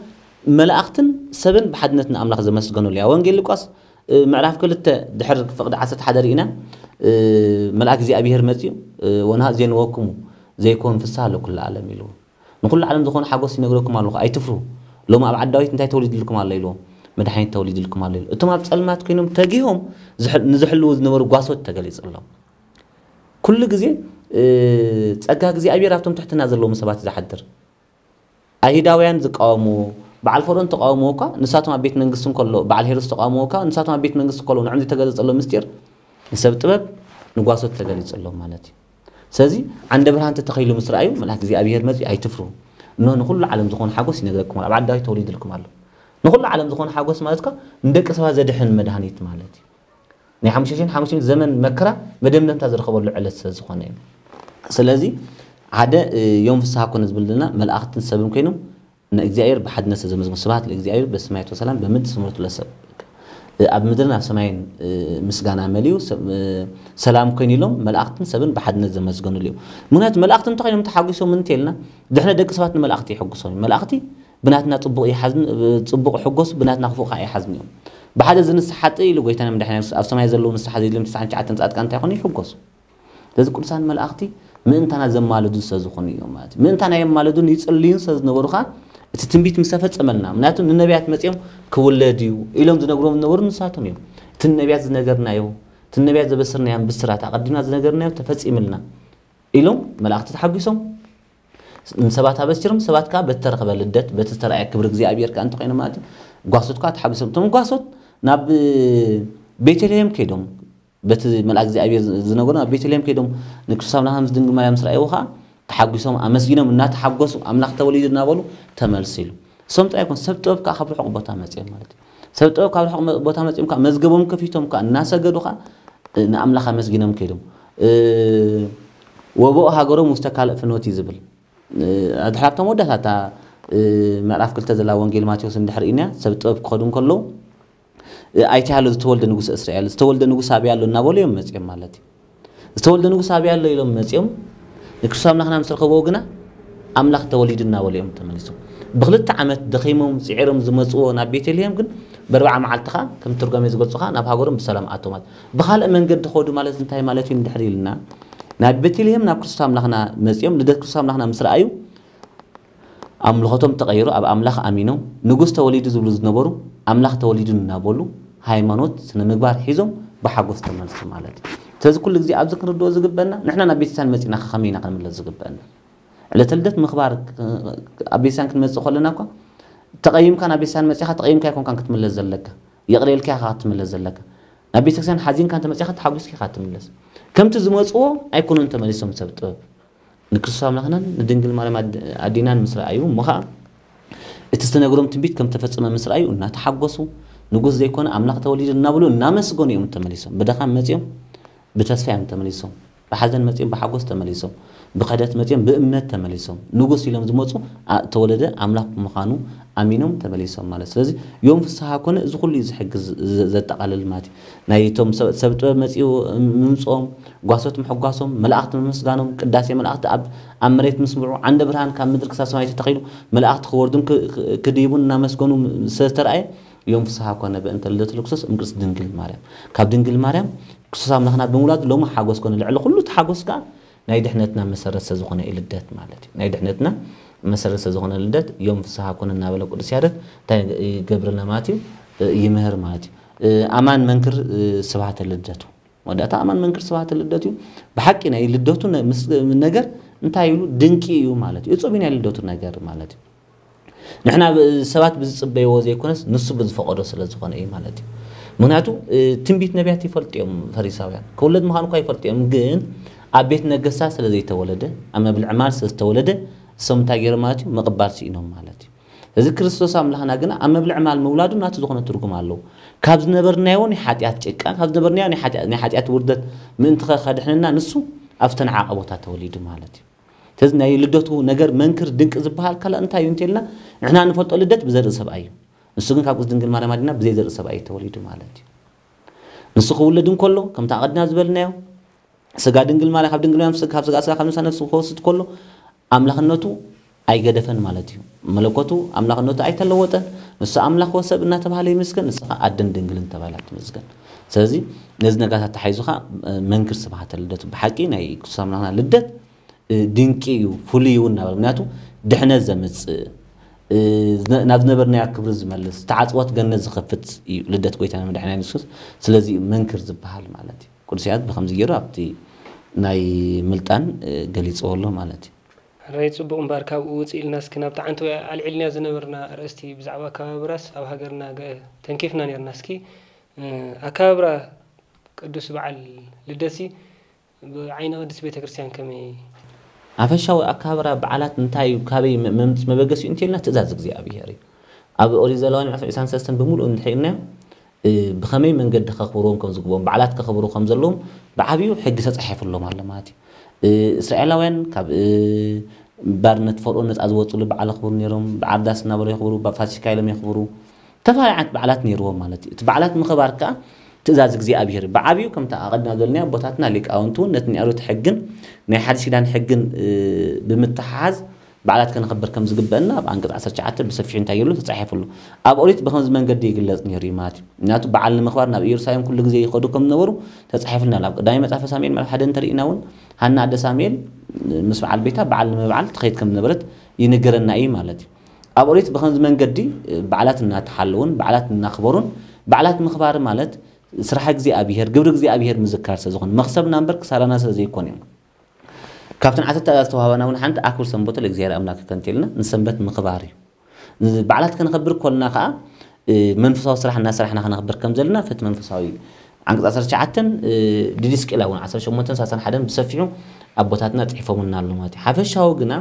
መላእኽትን ሰብን ብሓድነት ንኣምላኽ ዘመስገኑሉ እያ። ወንጌል ሉቃስ ምዕራፍ ክልተ ድሕር ፍቕዲ ዓሰርተ ሓደ ርኢና መልኣክ እግዚኣብሔር መፅዩ ወንሃ ዜንወክሙ ዘይኮን ፍስሓ ለኩሉ ዓለም ኢሉ ንኩሉ ዓለም ዝኾነ ሓጎስ ይነግረኩም ኣለኹ ኣይትፍሩ ሎም ኣብ ዓዲ ዳዊት እንታይ ተወሊድልኩም ኣሎ ኢልዎም መድሓኒት ተወሊድልኩም ኣሎ ኢሉ እቶም ኣብ ፀልማት ኮይኖም ተጊሆም ንዝሕልዉ ዝነበሩ ጓሶት ተገሊፅሎም ኩሉ ግዜ ፀጋ እግዚኣብሔር ኣብቶም ትሕትና ዘለዎም ሰባት ዝሓድር ኣይሁዳውያን ዝቃወምዎ በዓል ፈርኦን ተቃውምዎ እኳ ንሳቶም ኣብ ቤት መንግስቲ እንከሎ በዓል ሄሮድስ ተቃውምዎ እኳ ንሳቶም ኣብ ቤት መንግስቲ እንከሎ ንዕም ዝተገለጸሎም ምስጢር ንሰብ ጥበብ ንጓሶት ተገሊጸሎም ማለት እዩ። ስለዚ ዓንደ ብርሃን ተተኺሉ ምስ ረኣዩ መልኣክ እግዚኣብሔር መጺኡ ኣይትፍሩ እነሆ ንኹሉ ዓለም ዝኾነ ሓጎስ ይነግረኩም ኣሎ ኣብ ዓዲ ዳዊት ተወሊድልኩም ኣሎ። ንኹሉ ዓለም ዝኾነ ሓጎስ ማለት እኳ ንደቂ ሰባት ዘድሕን መድሃኒት ማለት እዩ። ናይ ሓሙሽተ ሽሕን ሓሙሽተ ሚእትን ዘመን መከራ መደምደምታ ዝረኸበሉ ዕለት ስለ ዝኾነ እዩ። ስለዚ ሓደ ዮም ፍስሓ ኮነ ዝብል ዘለና መላእኽትን ሰብን ኮይኖም ንእግዚኣብሔር ብሓድነት ስለ ዘመስግኑ ስብሐት ለእግዚኣብሔር በሰማያት ወሰላም በምድር ስምረቱ ለሰብ ኣብ ምድርን ኣብ ሰማይን ምስጋና መሊኡ ሰላም ኮይኑ ኢሎም መላእኽትን ሰብን ብሓድነት ዘመስገኑሉ እዩ። ምክንያቱ መላእኽቲ እንተኮይኖም ተሓጒሶም እንተ ኢልና ድሕነ ደቂ ሰባት ንመላእኽቲ ይሕጉሶም እዩ። መላእኽቲ ብናትና ጽቡቕ ይሓዝን ጽቡቕ ይሕጎሱ ብናትና ክፉእ ከዓ ይሓዝን እዮም። ብሓደ እዚ ንስሓ ጥእ ኢሉ ጎይታና መድሓኒና የሱስ ኣብ ሰማይ ዘለዉ ንስሓ ዘይድልዮም ትስዓን ትሽዓተን ጻድቃን እንታይ ይኾኑ ይሕጎሱ። ስለዚ ቅዱሳን መላእኽቲ ምእንታና ዘማልዱ ስለ ዝኾኑ እዮም ማለት እዩ። ምእንታና የማልዱን ይጽልዩን ስለ ዝነበሩ ኸዓ እቲ ትንቢት ምስ ተፈጸመልና፣ ምክንያቱ ንነቢያት መጺኦም ክውለድ እዩ ኢሎም ዝነግሮም ዝነበሩ ንሳቶም እዮም። እቲ ንነቢያት ዝነገርናዮ፣ እቲ ንነቢያት ዘበስርናዮም ብስራት ኣቐዲምና ዝነገርናዮ ተፈጺምልና ኢሎም መላእኽቲ ተሓጒሶም ንሰባት ኣበሲሮም፣ ሰባት ከዓ በቲ ተረኸበ ልደት፣ በቲ ዝተረኣየ ክብሪ እግዚኣብሔር ከዓ እንተኾይኑ ማለት እዩ፣ ጓሶት ከዓ ተሓጒሶም። እቶም ጓሶት ናብ ቤተልሔም ከይዶም በቲ መልኣክ እግዚኣብሔር ዝነገሮም ኣብ ቤተልሔም ከይዶም ንክርስቶስ ኣምላኽ ምስ ድንግል ማርያም ምስ ረኣይዎ ከዓ ተሓጒሶም ኣመስጊኖም እናተሓጎሱ ኣምላኽ ተወሊዱ እናበሉ ተመልሱ ኢሉ። እሶም ጥራይ ኣይኮን ሰብ ጥበብ ከዓ ካብ ርሑቕ ቦታ መፅኦም ማለት እዩ። ሰብ ጥበብ ካብ ርሑቕ መ- ቦታ መፅኦም ከዓ መዝገቦም ከፊቶም ከዓ እናሰገዱ ከዓ እ፣ ንኣምላኽ ኣመስጊኖም ከይዶም እ፣ ወቦኡ ሃገሮም ውስተ ካልእ ፍኖት እዩ ዝብል። ኣድሕራብታ መወዳእታ እታ ምዕራፍ ክልተ ዘላ ወንጌል ማቴዎስ እንድሕር ኢና ሰብ ጥበብ ክኸዱ እንከለዉ ኣይትሃሉ ዝተወልደ ንጉስ እስራኤል ዝተወልደ ንጉስ ኣበይ ኣሎ እናበሉ እዮም መፅኦም ማለት እዩ። ዝተወልደ ንጉስ ኣበይ ኣሎ ኢሎም መፅኦም ንክርስቶስ ኣምላኽና ምስ ረኸብዎ ግና ኣምላኽ ተወሊዱ እናበሉ እዮም ተመሊሶም። ብክልተ ዓመት ደኺሞም ፅዒሮም ዝመፅዎ ናብ ቤተልሔም ግን በርባዓ መዓልቲ ከዓ ከም ትርጓሜ ዝገልፁ ከዓ ናብ ሃገሮም ብሰላም ኣቶም ማለት። ብካልእ መንገዲ ከዱ ማለት እንታይ ማለት እዩ እንድሕር ኢልና ናብ ቤተልሔም ናብ ክርስቶስ ኣምላኽና መፅኦም ልደት ክርስቶስ ኣምላኽና ምስ ረኣዩ ኣምልኾቶም ተቐይሩ ኣብ ኣምላኽ ኣሚኖም ንጉስ ተወሊዱ ዝብሉ ዝነበሩ ኣምላኽ ተወሊዱ እናበሉ ሃይማኖት ስነ ምግባር ሒዞም ብሓጎስ ተመልሱ ማለት እዩ። ስለዚ ኩሉ ግዜ ኣብዚ ክንርድኦ ዝግበና ንሕና ናብ ቤተክርስትያን መፂና ከመይ ኢና ክንምለስ ዝግበና? ዕለተ ልደት ምኽባር ኣብ ቤተክርስትያን ክንመፅእ ከለና እኳ ተቐይምካ ናብ ቤተክርስትያን መፂኻ ተቐይምካ ኣይኮንካን ክትምለስ ዘለካ፣ ይቕረ ኢልካ ኢኻ ክትምለስ ዘለካ። ናብ ቤተክርስትያን ሓዚንካ እንተመፂኻ ተሓጒስካ ኢኻ ትምለስ። ከምቲ ዝመፅዎ ኣይኮኑን ተመሊሶም ሰብ ጥበብ ንክርስቶስ ኣምላኽናን ንድንግል ማርያም ኣድ- ኣዴናን ምስ ረኣዩ እሞ ኸዓ እቲ ዝተነግሮም ትንቢት ከም ተፈጸመ ምስ ረኣዩ እናተሓጎሱ ንጉስ ዘይኮነ ኣምላኽ ተወሊዱ እናበሉ እናመስገኑ እዮም ተመሊሶም። ብድኻም መጺኦም ብተስፋ እዮም ተመሊሶም። ብሓዘን መጺኦም ብሓጎስ ተመሊሶም። ብኸደት መጺኦም ብእምነት ተመሊሶም። ንጉስ ኢሎም ዝመጹ ኣ- ተወለደ ኣምላኽ ብምዃኑ ኣሚኖም ተመሊሶም ማለት። ስለዚ ዮም ፍስሃ ኮነ እዚ ኩሉ እዩ ዝሕግዝ ዘ- ዘጠቓልል ማለት እዩ። ናይ እቶም ሰብ ሰብ ጥበብ መጺኡ ምምጽኦም ጓሶት ምሕጓሶም፣ መላእኽቲ ምምስጋኖም፣ ቅዳሴ መላእኽቲ ኣብ ኣብ መሬት ምስምዑ፣ ዓንደ ብርሃን ካብ ምድሪ ክሳብ ሰማይ ተተኺሉ፣ መላእኽቲ ክወርዱን ክ- ክ- ክድይቡን እናመስገኑ ስለ ዝተራእየ፣ ዮም ፍስሓ ኮነ በእንተ ልደቱ ለክርስቶስ እምቅድስት ድንግል ማርያም። ካብ ድንግል ማርያም ክርስቶስ ኣምላኽና ብምውላዱ ሎሚ ሓጎስ ኮነ። ልዕሊ ኩሉ እቲ ሓጎስ ከኣ ናይ ድሕነትና መሰረት ስለ ዝኾነ እዩ ልደት ማለት እዩ። ናይ ድሕነትና መሰረት ስለ ዝኾነ ልደት ዮም ፍስሓ ኮነ እናበለ ቅዱስ ያሬድ እንታይ ይገብረና ማለት እዩ? ይምህር ማለት እዩ። ኣማን መንክር ስብሐተ ልደቱ። መወዳእታ ኣማን መንክር ስብሐተ ልደቱ እዩ። ብሓቂ ናይ ልደቱ ነ- ምስ- ነገር እንታይ ኢሉ ድንቂ እዩ ማለት እዩ። እጹብ እዩ ናይ ልደቱ ነገር ማለት እዩ። ንሕና ብ- ሰባት ብዝጽበይዎ ዘይኮነስ ንሱ ብዝፈቐዶ ስለ ዝኾነ እዩ ማለት እዩ። ምክንያቱ እ፣ ትንቢት ነቢያት ይፈልጡ እዮም ፈሪሳውያን። ክውለድ ምዃኑ እኳ ይፈልጡ እዮም፣ ግን ኣብ ቤት ነገስታት ስለ ዘይተወለደ ኣብ መብል ዕማል ስለ ዝተወለደ እሶም እንታይ ገይሮም ማለት እዩ? ምቕባል ስኢኖም ማለት እዩ። እዚ ክርስቶስ ኣምላኽና ግና ኣብ መብል ዕማል ምውላዱ ናቱ ዝኾነ ትርጉም ኣለዎ። ካብ ዝነበርናዮ ናይ ሓጢኣት ጭቃ፣ ካብ ዝነበርናዮ ናይ ሓጢኣት ናይ ሓጢኣት ውርደት ምእንቲ ከድሕነና ንሱ ኣብ ዝተነዓቐ ቦታ ተወሊዱ ማለት እዩ። ስለዚ ናይ ልደቱ ነገር መንክር ድንቂ ዝበሃል ካልእ እንታይ እዩ እንተልና ንሕና ንፈልጦ ልደት ብዘርኢ ሰብኣይ እዩ። ንሱ ግን ካብ ቅድስት ድንግል ማርያም ኣዴና ብዘይ ዘርኢ ሰብኣይ እዩ ተወሊዱ ማለት እዩ። ንሱ ክውለድ እንከሎ ከምቲ ኣቐድና ዝበልናዮ ስጋ ድንግል ማርያም ካብ ድንግል ማርያም ስጋ ካብ ስጋ ስጋ ካብ ነፍሳ ነፍሱ ክወስድ ከሎ ኣምላኽነቱ ኣይገደፈን ማለት እዩ። መለኮቱ ኣምላኽነቱ ኣይተለወጠን። ንሱ ኣምላኽ ወሰብ እናተባህለ ይምስገን፣ ንሱ ኸዓ ኣደን ድንግልን ተባሂላ ትምስገን። ስለዚ ነዚ ነገራት ኣተሓሒዙ ኸዓ መንክር ስብሓተ ልደቱ ብሓቂ ናይ ክርስቶስ ኣምላኽና ልደት ድንቂ እዩ፣ ፍሉይ እዩ እናበለ ምክንያቱ ድሕነት ዘምፅእ ናብ ዝነበርናዮ ክብሪ ዝመልስ ተዓፅወት ገነት ዝኸፍት እዩ ልደት ጎይታና መድሓኒና የሱስ ክርስቶስ። ስለዚ እዩ መንክር ዝበሃል ማለት እዩ። ቅዱስ ያሬድ ብኸምዚ ገይሩ ኣብቲ ናይ ምልጣን ገሊፅዎ ኣሎ ማለት እዩ። ሕራይ ጽቡቕ እምበኣር ካብኡ ውጽእ ኢልና እስኪ ናብቲ ዓንተወይ ኣልዒልናዮ ዝነበርና ኣርእስቲ ብዛዕባ ኣከባብራስ ኣብ ሃገርና ገ- ተንኪፍና ኔርና። እስኪ እ፣ ኣከባብራ ቅዱስ በዓል ልደትሲ ብዓይኒ ቅድስት ቤተ ክርስቲያን ከመይ? ኣፈሻዊ ኣከባብራ በዓላት እንታይ እዩ? ካበይ መ- መምጽ መበገሲኡ እንተልና ትእዛዝ እግዚኣብሔር እዩ። ኣብ ኦሪት ዘለዋን ምዕራፍ ዕስራን ሰለስተን ብምሉእ እንድሕር ኢልናዮ እ፣ ብኸመይ መንገዲ ከኽብርዎም ከም ዝግብኦም፣ በዓላት ከኽብሩ ከም ዘለዎም ብዓብዩ ሕጊ ተጻሒፉሎም ኣሎ ማለት እዩ። እ፣ እስራኤላውያን ካብ እ፣ ባርነት ፈርኦን ነጻ ዝወፅሉ በዓል የኽብሩ ነይሮም። በዓል ዳስ እናበሉ የኽብሩ፣ ፋሲካ ኢሎም የኽብሩ። ዝተፈላለዩ ዓይነት በዓላት ነይርዎም ማለት እዩ። እቲ በዓላት ምኽባር ከዓ ትእዛዝ እግዚኣብሔር እዩ። ብዓብዩ ከምቲ ኣቐድና ዘልናዮ ኣቦታትና ሊቃውንቱ እውን ነቲ ናይ ኦሪት ሕግን ናይ ሓዲስ ኪዳን ሕግን እ፣ ብምትሓሓዝ በዓላት ከነኽብር ከም ዝግበአና ኣብ ዓንቀጽ ዓሰርተ ትሽዓተ ብሰፊሑ እንታይ ይብሉ ተጻሒፉ ኣሎ። ኣብ ኦሪት ብኸምዚ መንገዲ ይግለጽ ነይሩ እዩ ማለት እዩ። ምክንያቱ በዓል ንምኽባር ናብ ኢየሩሳሌም ኩሉ ግዜ ይኸዱ ከም ዝነበሩ ተጻሒፉልና ኣሎ። ኣብ ቀዳማይ መጽሓፈ ሳሙኤል ምዕራፍ ሓደ እንተርኢና እውን ሃና ኣደ ሳሙኤል ምስ በዓል ቤታ በዓል ንምብዓል ትኸይድ ከም ዝነበረት ይንገረና እዩ ማለት እዩ። ኣብ ኦሪት ብኸምዚ መንገዲ በዓላት እናተሓለውን በዓላት እናኽበሩን በዓላት ምኽባር ማለት ስራሕ እግዚኣብሔር ግብሪ እግዚኣብሔር ምዝካር ስለ ዝኾነ መኽሰብና እምበር ክሳራና ስለ ዘይኮነ እዩ። ካብተን ዓሰርተ ትእዛዝ ዝተዋህባና እውን ሓንቲ ኣክብር ሰንበቶ ለእግዚኣብሔር ኣምላክ ከንቴልና ንሰንበት ምኽባር እዩ። በዓላት ከነኸብር ኮልና ከዓ መንፈሳዊ ስራሕ እናሰራሕና ከነኸብር ከም ዘለና ፍት መንፈሳዊ እዩ። ዓንቀጽ ዓሰርተ ትሽዓተን ዲድስቅላ እውን ዓሰርተ ሸሞንተን ሰላሳን ሓደን ብሰፊሑ ኣቦታትና ጽሒፎምልና ኣሎ ማለት እዩ። ሓፈሻዊ ግና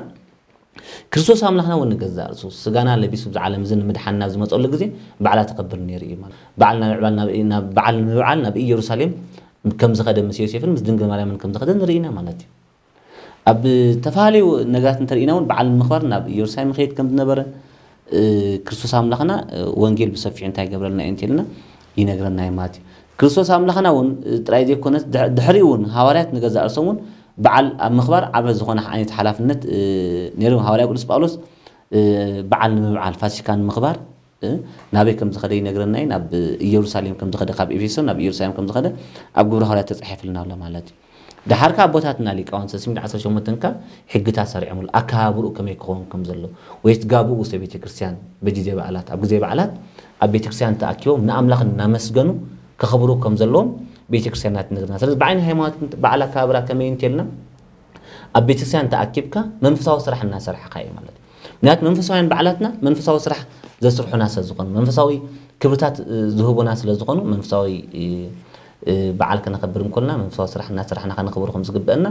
ክርስቶስ ኣምላኽና እውን ንገዛእ ርእሱ ስጋና ለቢሱ ብዚ ዓለም እዚ ንምድሓንና ኣብ ዝመፀሉ ግዜ በዓላት ተኸብር ነይሩ እዩ ማለት በዓል ናብ ዕባል ናብ ናብ በዓል ንምብዓል ናብ ኢየሩሳሌም ከም ዝኸደ ምስ ዮሴፍን ምስ ድንግል ማርያምን ከም ዝኸደ ንርኢ ኢና ማለት እዩ። ኣብ ዝተፈላለዩ ነገራት እንተርኢና እውን በዓል ንምኽባር ናብ ኢየሩሳሌም ይኸይድ ከም ዝነበረ ክርስቶስ ኣምላኽና ወንጌል ብሰፊሑ እንታይ ይገብረልና እዩ እንተልና ይነግረና እዩ ማለት እዩ። ክርስቶስ ኣምላኽና እውን ጥራይ ዘይኮነስ ድሕሪኡ እውን ሃዋርያት ንገዛእ ርእሶም እውን በዓል ኣብ ምኽባር ዓበ ዝኾነ ዓይነት ሓላፍነት ነይሩ። ሃዋርያ ቅዱስ ጳውሎስ በዓል ንምብዓል ፋሲካ ንምኽባር ናበይ ከም ዝኸደ ይነግረና እዩ። ናብ ኢየሩሳሌም ከም ዝኸደ ካብ ኤፌሶን ናብ ኢየሩሳሌም ከም ዝኸደ ኣብ ግብረ ሃዋርያት ተጻሒፍልና ኣሎ ማለት እዩ። ደሓር ከኣ ኣቦታትና ሊቃውንት ሰለስተ ሚእትን ዓሰርተ ሸሞንተን ከኣ ሕግታት ሰሪዖምሉ ኣከባብርኡ ከመይ ክኸውን ከም ዘለዎ ወይ እቲ ጋብኡ ውስተ ቤተ ክርስቲያን በጊዜ በዓላት ኣብ ግዜ በዓላት ኣብ ቤተ ክርስቲያን ተኣኪቦም ንኣምላኽ እናመስገኑ ከኸብሩ ከም ዘለዎም ቤተ ክርስቲያንና ትነግርና። ስለዚ ብዓይኒ ሃይማኖት በዓል ኣከባብራ ከመይ እንተልና ኣብ ቤተ ክርስቲያን ተኣኪብካ መንፈሳዊ ስራሕ እናሰራሕካ እዩ ማለት እዩ። ምክንያቱ መንፈሳውያን በዓላትና መንፈሳዊ ስራሕ ዘስርሑና ስለ ዝኾኑ መንፈሳዊ ክብርታት ዝህቡና ስለ ዝኾኑ መንፈሳዊ በዓል ከነኸብር እንኮልና መንፈሳዊ ስራሕ እናሰራሕና ከነኽብር ከም ዝግበአና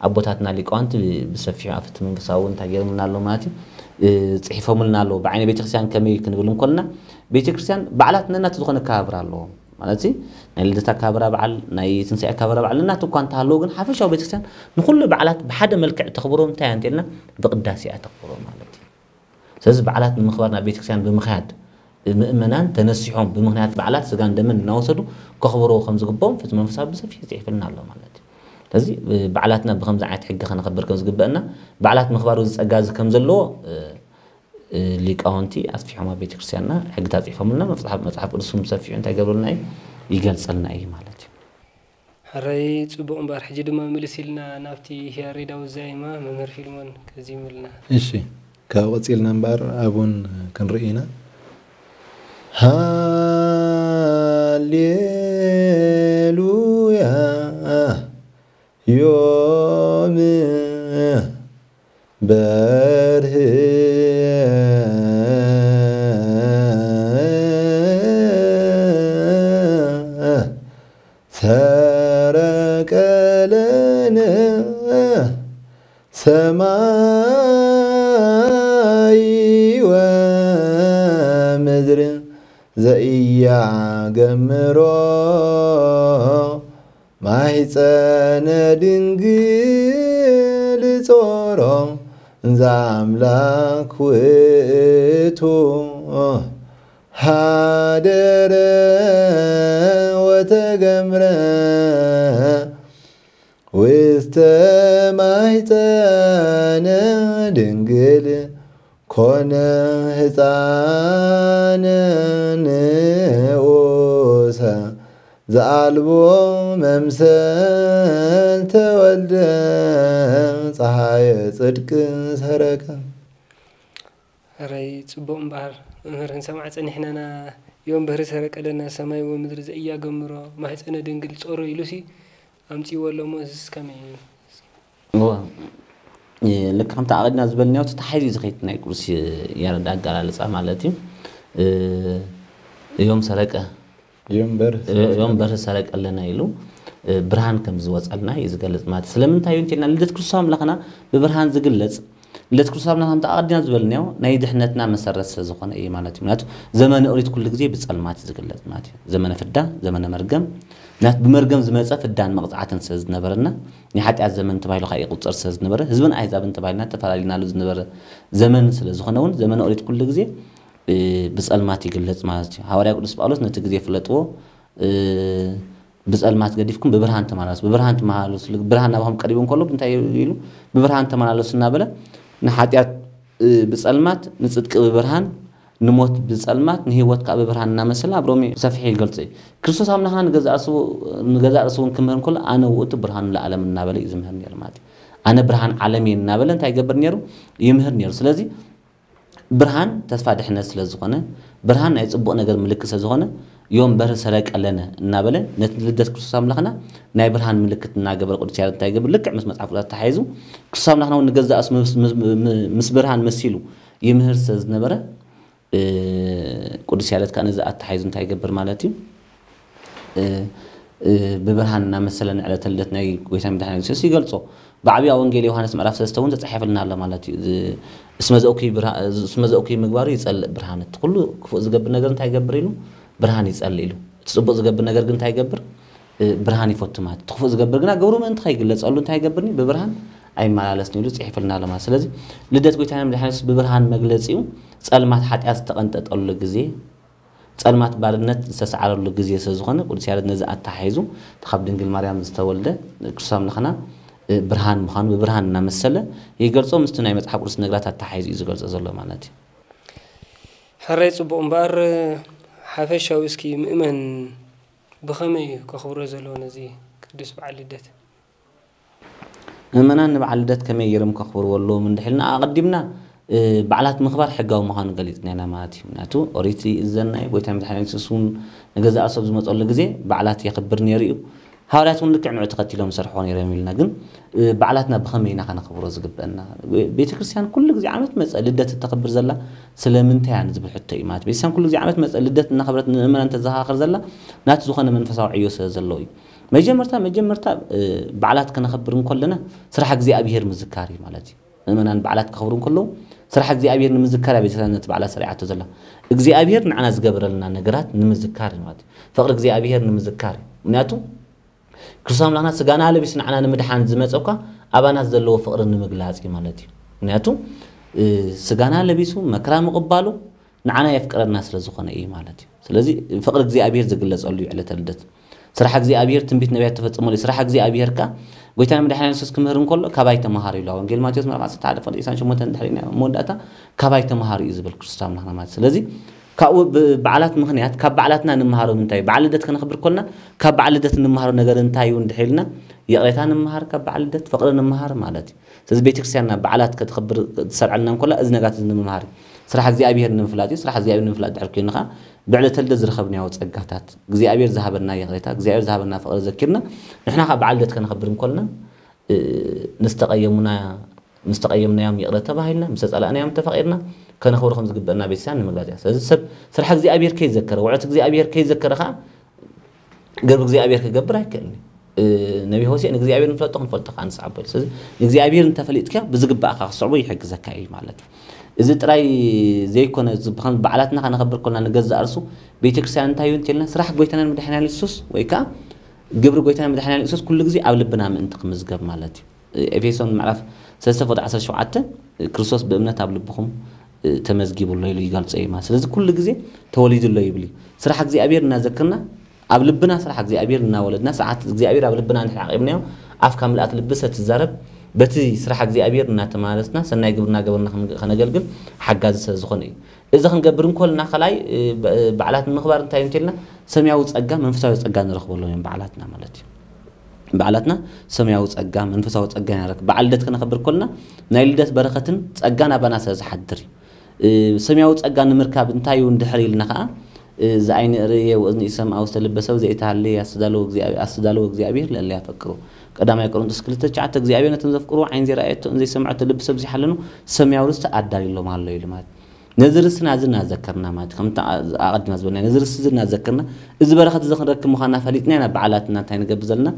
ኣቦታትና ሊቃውንቲ ብሰፊሑ ኣብቲ መንፈሳዊ እንታይ ገይሮምልና ኣለዉ ማለት እዩ። ጽሒፎምልና ኣለዉ። ብዓይነ ቤተክርስትያን ከመይ ክንብል እንኮልና ቤተክርስትያን በዓላት ነናቱ ዝኾነ ኣከባብራ ኣለዎም። ማለት ናይ ልደት ኣከባብራ በዓል ናይ ትንሳኤ ኣከባብራ በዓል ነናቱ እኳ እንተሃለዉ ግን ሓፈሻዊ ቤተክርስትያን ንኩሉ በዓላት ብሓደ መልክዕ ተኽብሮ እንታይ እያ እንተልና ብቅዳሴ እያ ተኽብሮ ማለት እዩ። ስለዚ በዓላት ንምኽባር ናብ ቤተክርስትያን ብምኽያድ ምእመናን ተነሲሖም ብምኽንያት በዓላት ስጋን ደምን እናወሰዱ ከኽብርዎ ከም ዝግብኦም ፍትሒ መንፈሳዊ ብሰፊሕ ይፅሕፍልና ኣሎ ማለት እዩ። ስለዚ በዓላትና ብከምዚ ዓይነት ሕጊ ከነኽብር ከም ዝግበአና በዓላት ምኽባር እዚ ፀጋ እዚ ከም ዘለዎ ሊቃውንቲ ኣስፊሖም ኣብ ቤተክርስትያንና ሕግታት ፅሒፎምልና መፅሓፍ መፅሓፍ ቅዱስ እውን ብሰፊሑ እንታይ ይገብረልና እዩ ይገልፀልና እዩ ማለት እዩ። ሕራይ ጽቡቕ እምበኣር ሕጂ ድማ ምልስ ኢልና ናብቲ ያሬዳዊ ዛይማ መምህር ፊልሞን ከዚሙልና። እሺ ካብ ቀጺልና እምበኣር ኣቡን ክንርኢ ኢና። ሃሌሉያ ዮም በርህ ሰረቀ ለነ ሰማይ ወምድር ዘኢያገምሮ ማህፀነ ድንግል ጾሮ ዘኣምላክ ውእቱ ሃደረ ወተገምረ ውስተ ማህፀነ ድንግል ኮነ ህፃነ ንኡሰ ዘኣልቦ መምሰል ተወልደ ፀሃየ ፅድቅ ሰረቀ። ሕራይ ጽቡቕ እምበኣር መምህር ክንሰምዓ ጸኒሕናና ዮም በህሪ ሰረቀለና ሰማይ ወምድሪ ዘኢያገምሮ ማህጸነ ድንግል ጾሮ ኢሉሲ ኣምጺእዎ ኣሎ እሞ እዝስ ከመይ እዩ? እወ ልክ ከምቲ ኣቐድና ዝበልናዮ እቲ ተታሒዙ እዩ ዝኸይድ ናይ ቅዱስ ያረድ ኣገላልጻ ማለት እዩ። እዮም ሰረቀ እዮም በርህ ሰረቀለና ኢሉ ብርሃን ከም ዝወፀልና እዩ ዝገልፅ ማለት እዩ። ስለምንታይ እዩ እንተልና ልደት ክርስቶስ ኣምላኽና ብብርሃን ዝግለፅ ልደት ክርስቶስ ኣምላኽ ከምቲ ኣቐዲና ዝበልናዮ ናይ ድሕነትና መሰረት ስለ ዝኾነ እዩ ማለት እዩ። ምክንያቱ ዘመነ ኦሪት ኩሉ ግዜ ብፀልማት እዩ ዝግለፅ ማለት እዩ። ዘመነ ፍዳ፣ ዘመነ መርገም፣ ምክንያቱ ብመርገም ዝመፀ ፍዳን መቕፃዕትን ስለ ዝነበረና ናይ ሓጢኣት ዘመን ተባሂሉ ከዓ ይቁፀር ስለ ዝነበረ ህዝብን ኣህዛብን ተባሂልና ተፈላለናሉ ዝነበረ ዘመን ስለ ዝኾነ እውን ዘመነ ኦሪት ኩሉ ግዜ ብፀልማት ይግለፅ ማለት እዩ። ሃዋርያ ቅዱስ ጳውሎስ ነቲ ግዜ ፍለጥዎ ብፀልማት ገዲፍኩም ብብርሃን ተመላለሱ፣ ብብርሃን ተመላለሱ፣ ብርሃን ናባኹም ቀሪቡ እንከሎ እንታይ ኢሉ ብብርሃን ተመላለሱ እናበለ ንሓጢኣት ብጸልማት፣ ንጽድቂ ብብርሃን፣ ንሞት ብጸልማት፣ ንህይወት ከዓ ብብርሃን እናመሰለ ኣብ ሮሜ ሰፊሑ ይገልጾ እዩ። ክርስቶስ ኣምላኽና ንገዛእ ርእሱ ንገዛእ ርእሱ እውን ክምህር እንከሎ ኣነ ውእቱ ብርሃኑ ለዓለም እናበለ እዩ ዝምህር ነይሩ ማለት እዩ። ኣነ ብርሃን ዓለም እየ እናበለ እንታይ ይገብር ነይሩ? ይምህር ነይሩ። ስለዚ ብርሃን ተስፋ ድሕነት ስለ ዝኾነ፣ ብርሃን ናይ ጽቡቕ ነገር ምልክት ስለ ዝኾነ፣ ዮም በርህ ሰረቀ ለነ እናበለ ነቲ ልደት ክርስቶስ ኣምላኽና ናይ ብርሃን ምልክት እናገበረ ቅዱስ ያሬድ እንታይ ይገብር? ልክዕ ምስ መጽሓፍ ቅዱስ ተታሒዙ ክርስቶስ ኣምላኽና እውን ንገዛእ ርእሱ ምስ- ምስ- ምስ ብርሃን መሲሉ ይምህር ስለ ዝነበረ፣ ቅዱስ ያሬድ ከዓ ነዚ ኣተሓሒዙ እንታይ ይገብር ማለት እዩ? ብብርሃን እናመሰለ ንዕለተ ልደት ናይ ጎይታ መድሓኒ የሱስ ይገልጾ። ብዓብያ ወንጌል ዮሃንስ ምዕራፍ ሰለስተ እውን ተጻሒፍልና ኣሎ ማለት እዩ። እስመ ዘእኩይ ምግባሩ ይጸልእ ብርሃን፣ እቲ ኩሉ ክፉእ ዝገብር ነገር እንታይ ይገብር ኢሉ? ብርሃን ይጸልእ ኢሉ። እቲ ጽቡቕ ዝገብር ነገር ግን እንታይ ይገብር? ብርሃን ይፈቱ ማለት። እቲ ክፉእ ዝገብር ግና ግብሩ ምእንቲ ከይግለጸሉ እንታይ ይገብርኒ? ብብርሃን ኣይመላለስን ኢሉ ጽሒፍልና ኣሎ ማለት። ስለዚ ልደት ጎይታና መድሓኒ የሱስ ብብርሃን መግለጺኡ ጸልማት ሓጢኣት ዝተቐንጠጠሉ ግዜ፣ ጸልማት ባርነት ዝተሰዓረሉ ግዜ ስለ ዝኾነ ቅዱስ ያሬድ ነዚ ኣተሓሒዙ ካብ ድንግል ማርያም ዝተወልደ ክርስቶስ ኣምላኽና ብርሃን ምዃኑ ብብርሃን እናመሰለ ይገልጾ። ምስቲ ናይ መጽሓፍ ቅዱስ ነገራት ኣተሓሒዙ እዩ ዝገልጾ ዘሎ ማለት እዩ። ሕራይ ጽቡቕ እምበኣር ሓፈሻዊ እስኪ ምእመን ብኸመይ እዩ ከኽብሮ ዘለዎ ነዚ ቅዱስ በዓል ልደት? ምእመናን ንበዓል ልደት ከመይ ገይሮም ከኽብርዎ ኣለዎም እንድሕልና ኣቐዲምና በዓላት ምኽባር ሕጋዊ ምዃኑ ገሊፅና ኢና ማለት እዩ። ምክንያቱ ኦሪት ይእዘና እዩ። ጎይታ መድሓኒ የሱስ እውን ንገዛእ ሰብ ዝመፀሉ ግዜ በዓላት የኽብር ነይሩ እዩ። ሃዋርያት እውን ልክዕ ንዑ ተኸቲሎም ዝሰርሕዎ ነይሮም ኢልና። ግን በዓላትና ብኸመይ ኢና ከነኽብሮ ዝግበአና? ቤተ ክርስቲያን ኩሉ ግዜ ዓመት መፀ ልደት እተኽብር ዘላ ስለምንታይ እያ ንዝብል ሕቶ እዩ ማለት። ቤተክርስትያን ኩሉ ግዜ ዓመት መፀ ልደት እናኽብረት ንምእመናን ተዘኻኽር ዘላ ናቲ ዝኾነ መንፈሳዊ ዕዮ ስለ ዘለዎ እዩ። መጀመርታ መጀመርታ በዓላት ከነኽብር እንከለና ስራሕ እግዚኣብሄር ምዝካር እዩ ማለት እዩ። ምእመናን በዓላት ከኽብሩ እንከለዉ ስራሕ እግዚኣብሄር ንምዝካር እያ ቤተክርስትያን ነቲ በዓላት ሰሪዓቶ ዘላ። እግዚኣብሄር ንዓና ዝገበረልና ነገራት ንምዝካር እዩ ማለት እዩ። ፍቕሪ እግዚኣብሄር ንምዝካር እዩ። ምክንያቱ ክርስቶስ ኣምላኽና ስጋና ለቢሱ ንዓና ንምድሓን ዝመፀ እኳ ኣባና ዘለዎ ፍቕሪ ንምግላፅ እዩ ማለት እዩ። ምክንያቱ ስጋና ለቢሱ መከራ ምቕባሉ ንዓና የፍቅረና ስለ ዝኾነ እዩ ማለት እዩ። ስለዚ ፍቕሪ እግዚኣብሄር ዝግለፀሉ እዩ ዕለተ ልደት። ስራሕ እግዚኣብሄር ትንቢት ነቢያት ተፈፀመሉ እዩ። ስራሕ እግዚኣብሄር ከ ጎይታና መድሓኒና የሱስ ክምህር እንከሎ ካባይ ተምሃሩ ኢሉ ወንጌል ማቴዎስ ምዕራፍ ዓሰርተ ሓደ ፍቕዲ ዕስራን ሸሞንተን ድሕሪ መወዳእታ ካባይ ተምሃሩ እዩ ዝብል ክርስቶስ ኣምላኽና ማለት። ስለዚ ካብኡ ብበዓላት ምኽንያት ካብ በዓላትና ንምሃሮ እንታይ እዩ? በዓል ልደት ከነኽብር ኮልና ካብ በዓል ልደት ንምሃሮ ነገር እንታይ እዩ እንድሕር ኢልና ይቕሬታ ንምሃር፣ ካብ በዓል ልደት ፍቕሪ ንምሃር ማለት እዩ። ስለዚ ቤተክርስትያንና በዓላት ከተኽብር ትሰርዐልና እንኮላ እዚ ነጋት እዚ ንምምሃር እዩ። ስራሕ እግዚኣብሔር ንምፍላጥ እዩ። ስራሕ እግዚኣብሔር ንምፍላጥ ድሕር ኮይኑ ከዓ ብዕለተ ልደት ዝረኸብናዮ ጸጋታት እግዚኣብሔር ዝሃበና ይቕሬታ እግዚኣብሔር ዝሃበና ፍቕሪ ዘኪርና ንሕና ከዓ በዓል ልደት ከነኽብር እንኮልና ንዝተቐየሙና ምስ ተቐየምናዮም ይቕረ ተባሂልና ምስ ተጸላእናዮም ተፋቒርና ከነኽብሮ ከም ዝግበአና ቤተክርስትያን ንምግላጽ እያ። ስለዚ ሰብ ስራሕ እግዚኣብሔር ከይዘከረ ውዕለት እግዚኣብሔር ከይዘከረ ከዓ ግብሪ እግዚኣብሔር ክገብር ኣይክእልን እዩ። ነቢ ሆሴዕ ንእግዚኣብሔር ንፍለጦ ክንፈልጦ ከዓ ንስዓቦ እዩ። ስለዚ ንእግዚኣብሔር እንተፈሊጥካ ብዝግባእካ ክስዕቦ ይሕግዘካ እዩ ማለት እዩ። እዚ ጥራይ ዘይኮነ ብዓላትና ከነኸብር ኮልና ንገዛእ ርሱ ቤተክርስትያን እንታይ እዩ እንተልና ስራሕ ጎይታናን መድሓኒያን የሱስ ወይ ከዓ ግብሪ ጎይታናን መድሓኒያን የሱስ ኩሉ ግዜ ኣብ ልብና ምእንቲ ክምዝገብ ማለት እዩ። ኤፌሶን ምዕራፍ ሰለስተ ፍቕዲ ዓሰርተ ሸውዓተ ክርስቶስ ብእምነት ኣብ ልብኹም ተመዝጊቡ ኣሎ ኢሉ ይገልጾ እዩ ማለት። ስለዚ ኩሉ ግዜ ተወሊዱ ኣሎ ይብል እዩ። ስራሕ እግዚኣብሔር እናዘክርና ኣብ ልብና ስራሕ እግዚኣብሔር እናወለድና ስርዓት እግዚኣብሔር ኣብ ልብና እንድሕር ዓቂብናዮ ኣፍካ ምልኣት ልቢ ሰትዛረብ በቲ ስራሕ እግዚኣብሔር እናተማለስና ሰናይ ግብርና ገበርና ከነገልግል ሓጋዚ ስለ ዝኾነ እዩ። እዚ ክንገብር እንኮልና ከላይ በዓላት ንምኽባር እንታይ እንተልና ሰማያዊ ጸጋ መንፈሳዊ ጸጋ ንረኽበሎም እዮም በዓላትና ማለት እዩ። በዓላትና ሰማያዊ ጸጋ መንፈሳዊ ጸጋ ኢና ንረክብ። በዓል ልደት ከነኽብር ከልና ናይ ልደት በረኸትን ጸጋን ኣባና ስለ ዝሓድር እዩ። ሰማያዊ ጸጋ ንምርካብ እንታይ እዩ እንድሕር ኢልና ከዓ እዚ ዓይኒ ርእየ ወእዝኒ ይሰምዓ ውስተ ልበ ሰብ ዘይተሃለየ ኣስተዳለወ እግዚኣብሔር ለእለ ያፈቅሩ ቀዳማይ ቆሮንቶስ ክልተ ትሽዓተ እግዚኣብሔር ነቶም ዘፍቅሩ ዓይን ዘይረኣየቶ ዘይሰምዐቶ ልቢ ሰብ ዘይሓለኑ ሰማያዊ ርስቲ ኣዳልዩሎም ኣሎ ኢሉ ማለት ነዚ ርስና እዚ እናዘከርና ማለት ከምቲ ኣቐድማ ዝበልና ነዚ ርስ እዚ እናዘከርና እዚ በረኸት እዚ ክንረክብ ምዃንና ፈሊጥና ኢና በዓላትና እንታይ ንገብር ዘለና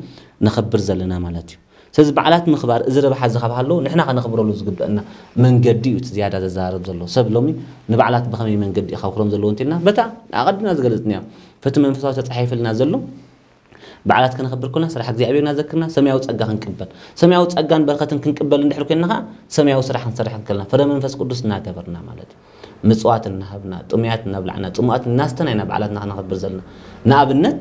ነኸብር ዘለና ማለት እዩ። ስለዚ በዓላት ምኽባር እዚ ረብሓ እዚ ካብ ሃለዎ ንሕና ከነኽብረሉ ዝግበአና መንገዲ እዩ እቲ ዝያዳ ዘዘራርብ ዘሎ ሰብ ሎሚ ንበዓላት ብኸመይ መንገዲ እዩ ከኽብሮም ዘለዎ እንተልና በታ ኣቐድምና ዝገለፅናዮ ፈቲ መንፈሳዊ ተፃሒፍልና ዘሎ በዓላት ከነኽብር ኮና ስራሕ እግዚኣብሔር እናዘክርና ሰማያዊ ጸጋ ክንቅበል ሰማያዊ ጸጋን በረኸትን ክንቅበል እንድሕር ኮይንና ከዓ ሰማያዊ ስራሕ ክንሰርሕ እንከልና ፍረ መንፈስ ቅዱስ እናገበርና ማለት እዩ። ምጽዋት እናሃብና ጥሙያት እናብላዕና ጽሙኣት እናስተና ኢና በዓላትና ከነኽብር ዘለና። ንኣብነት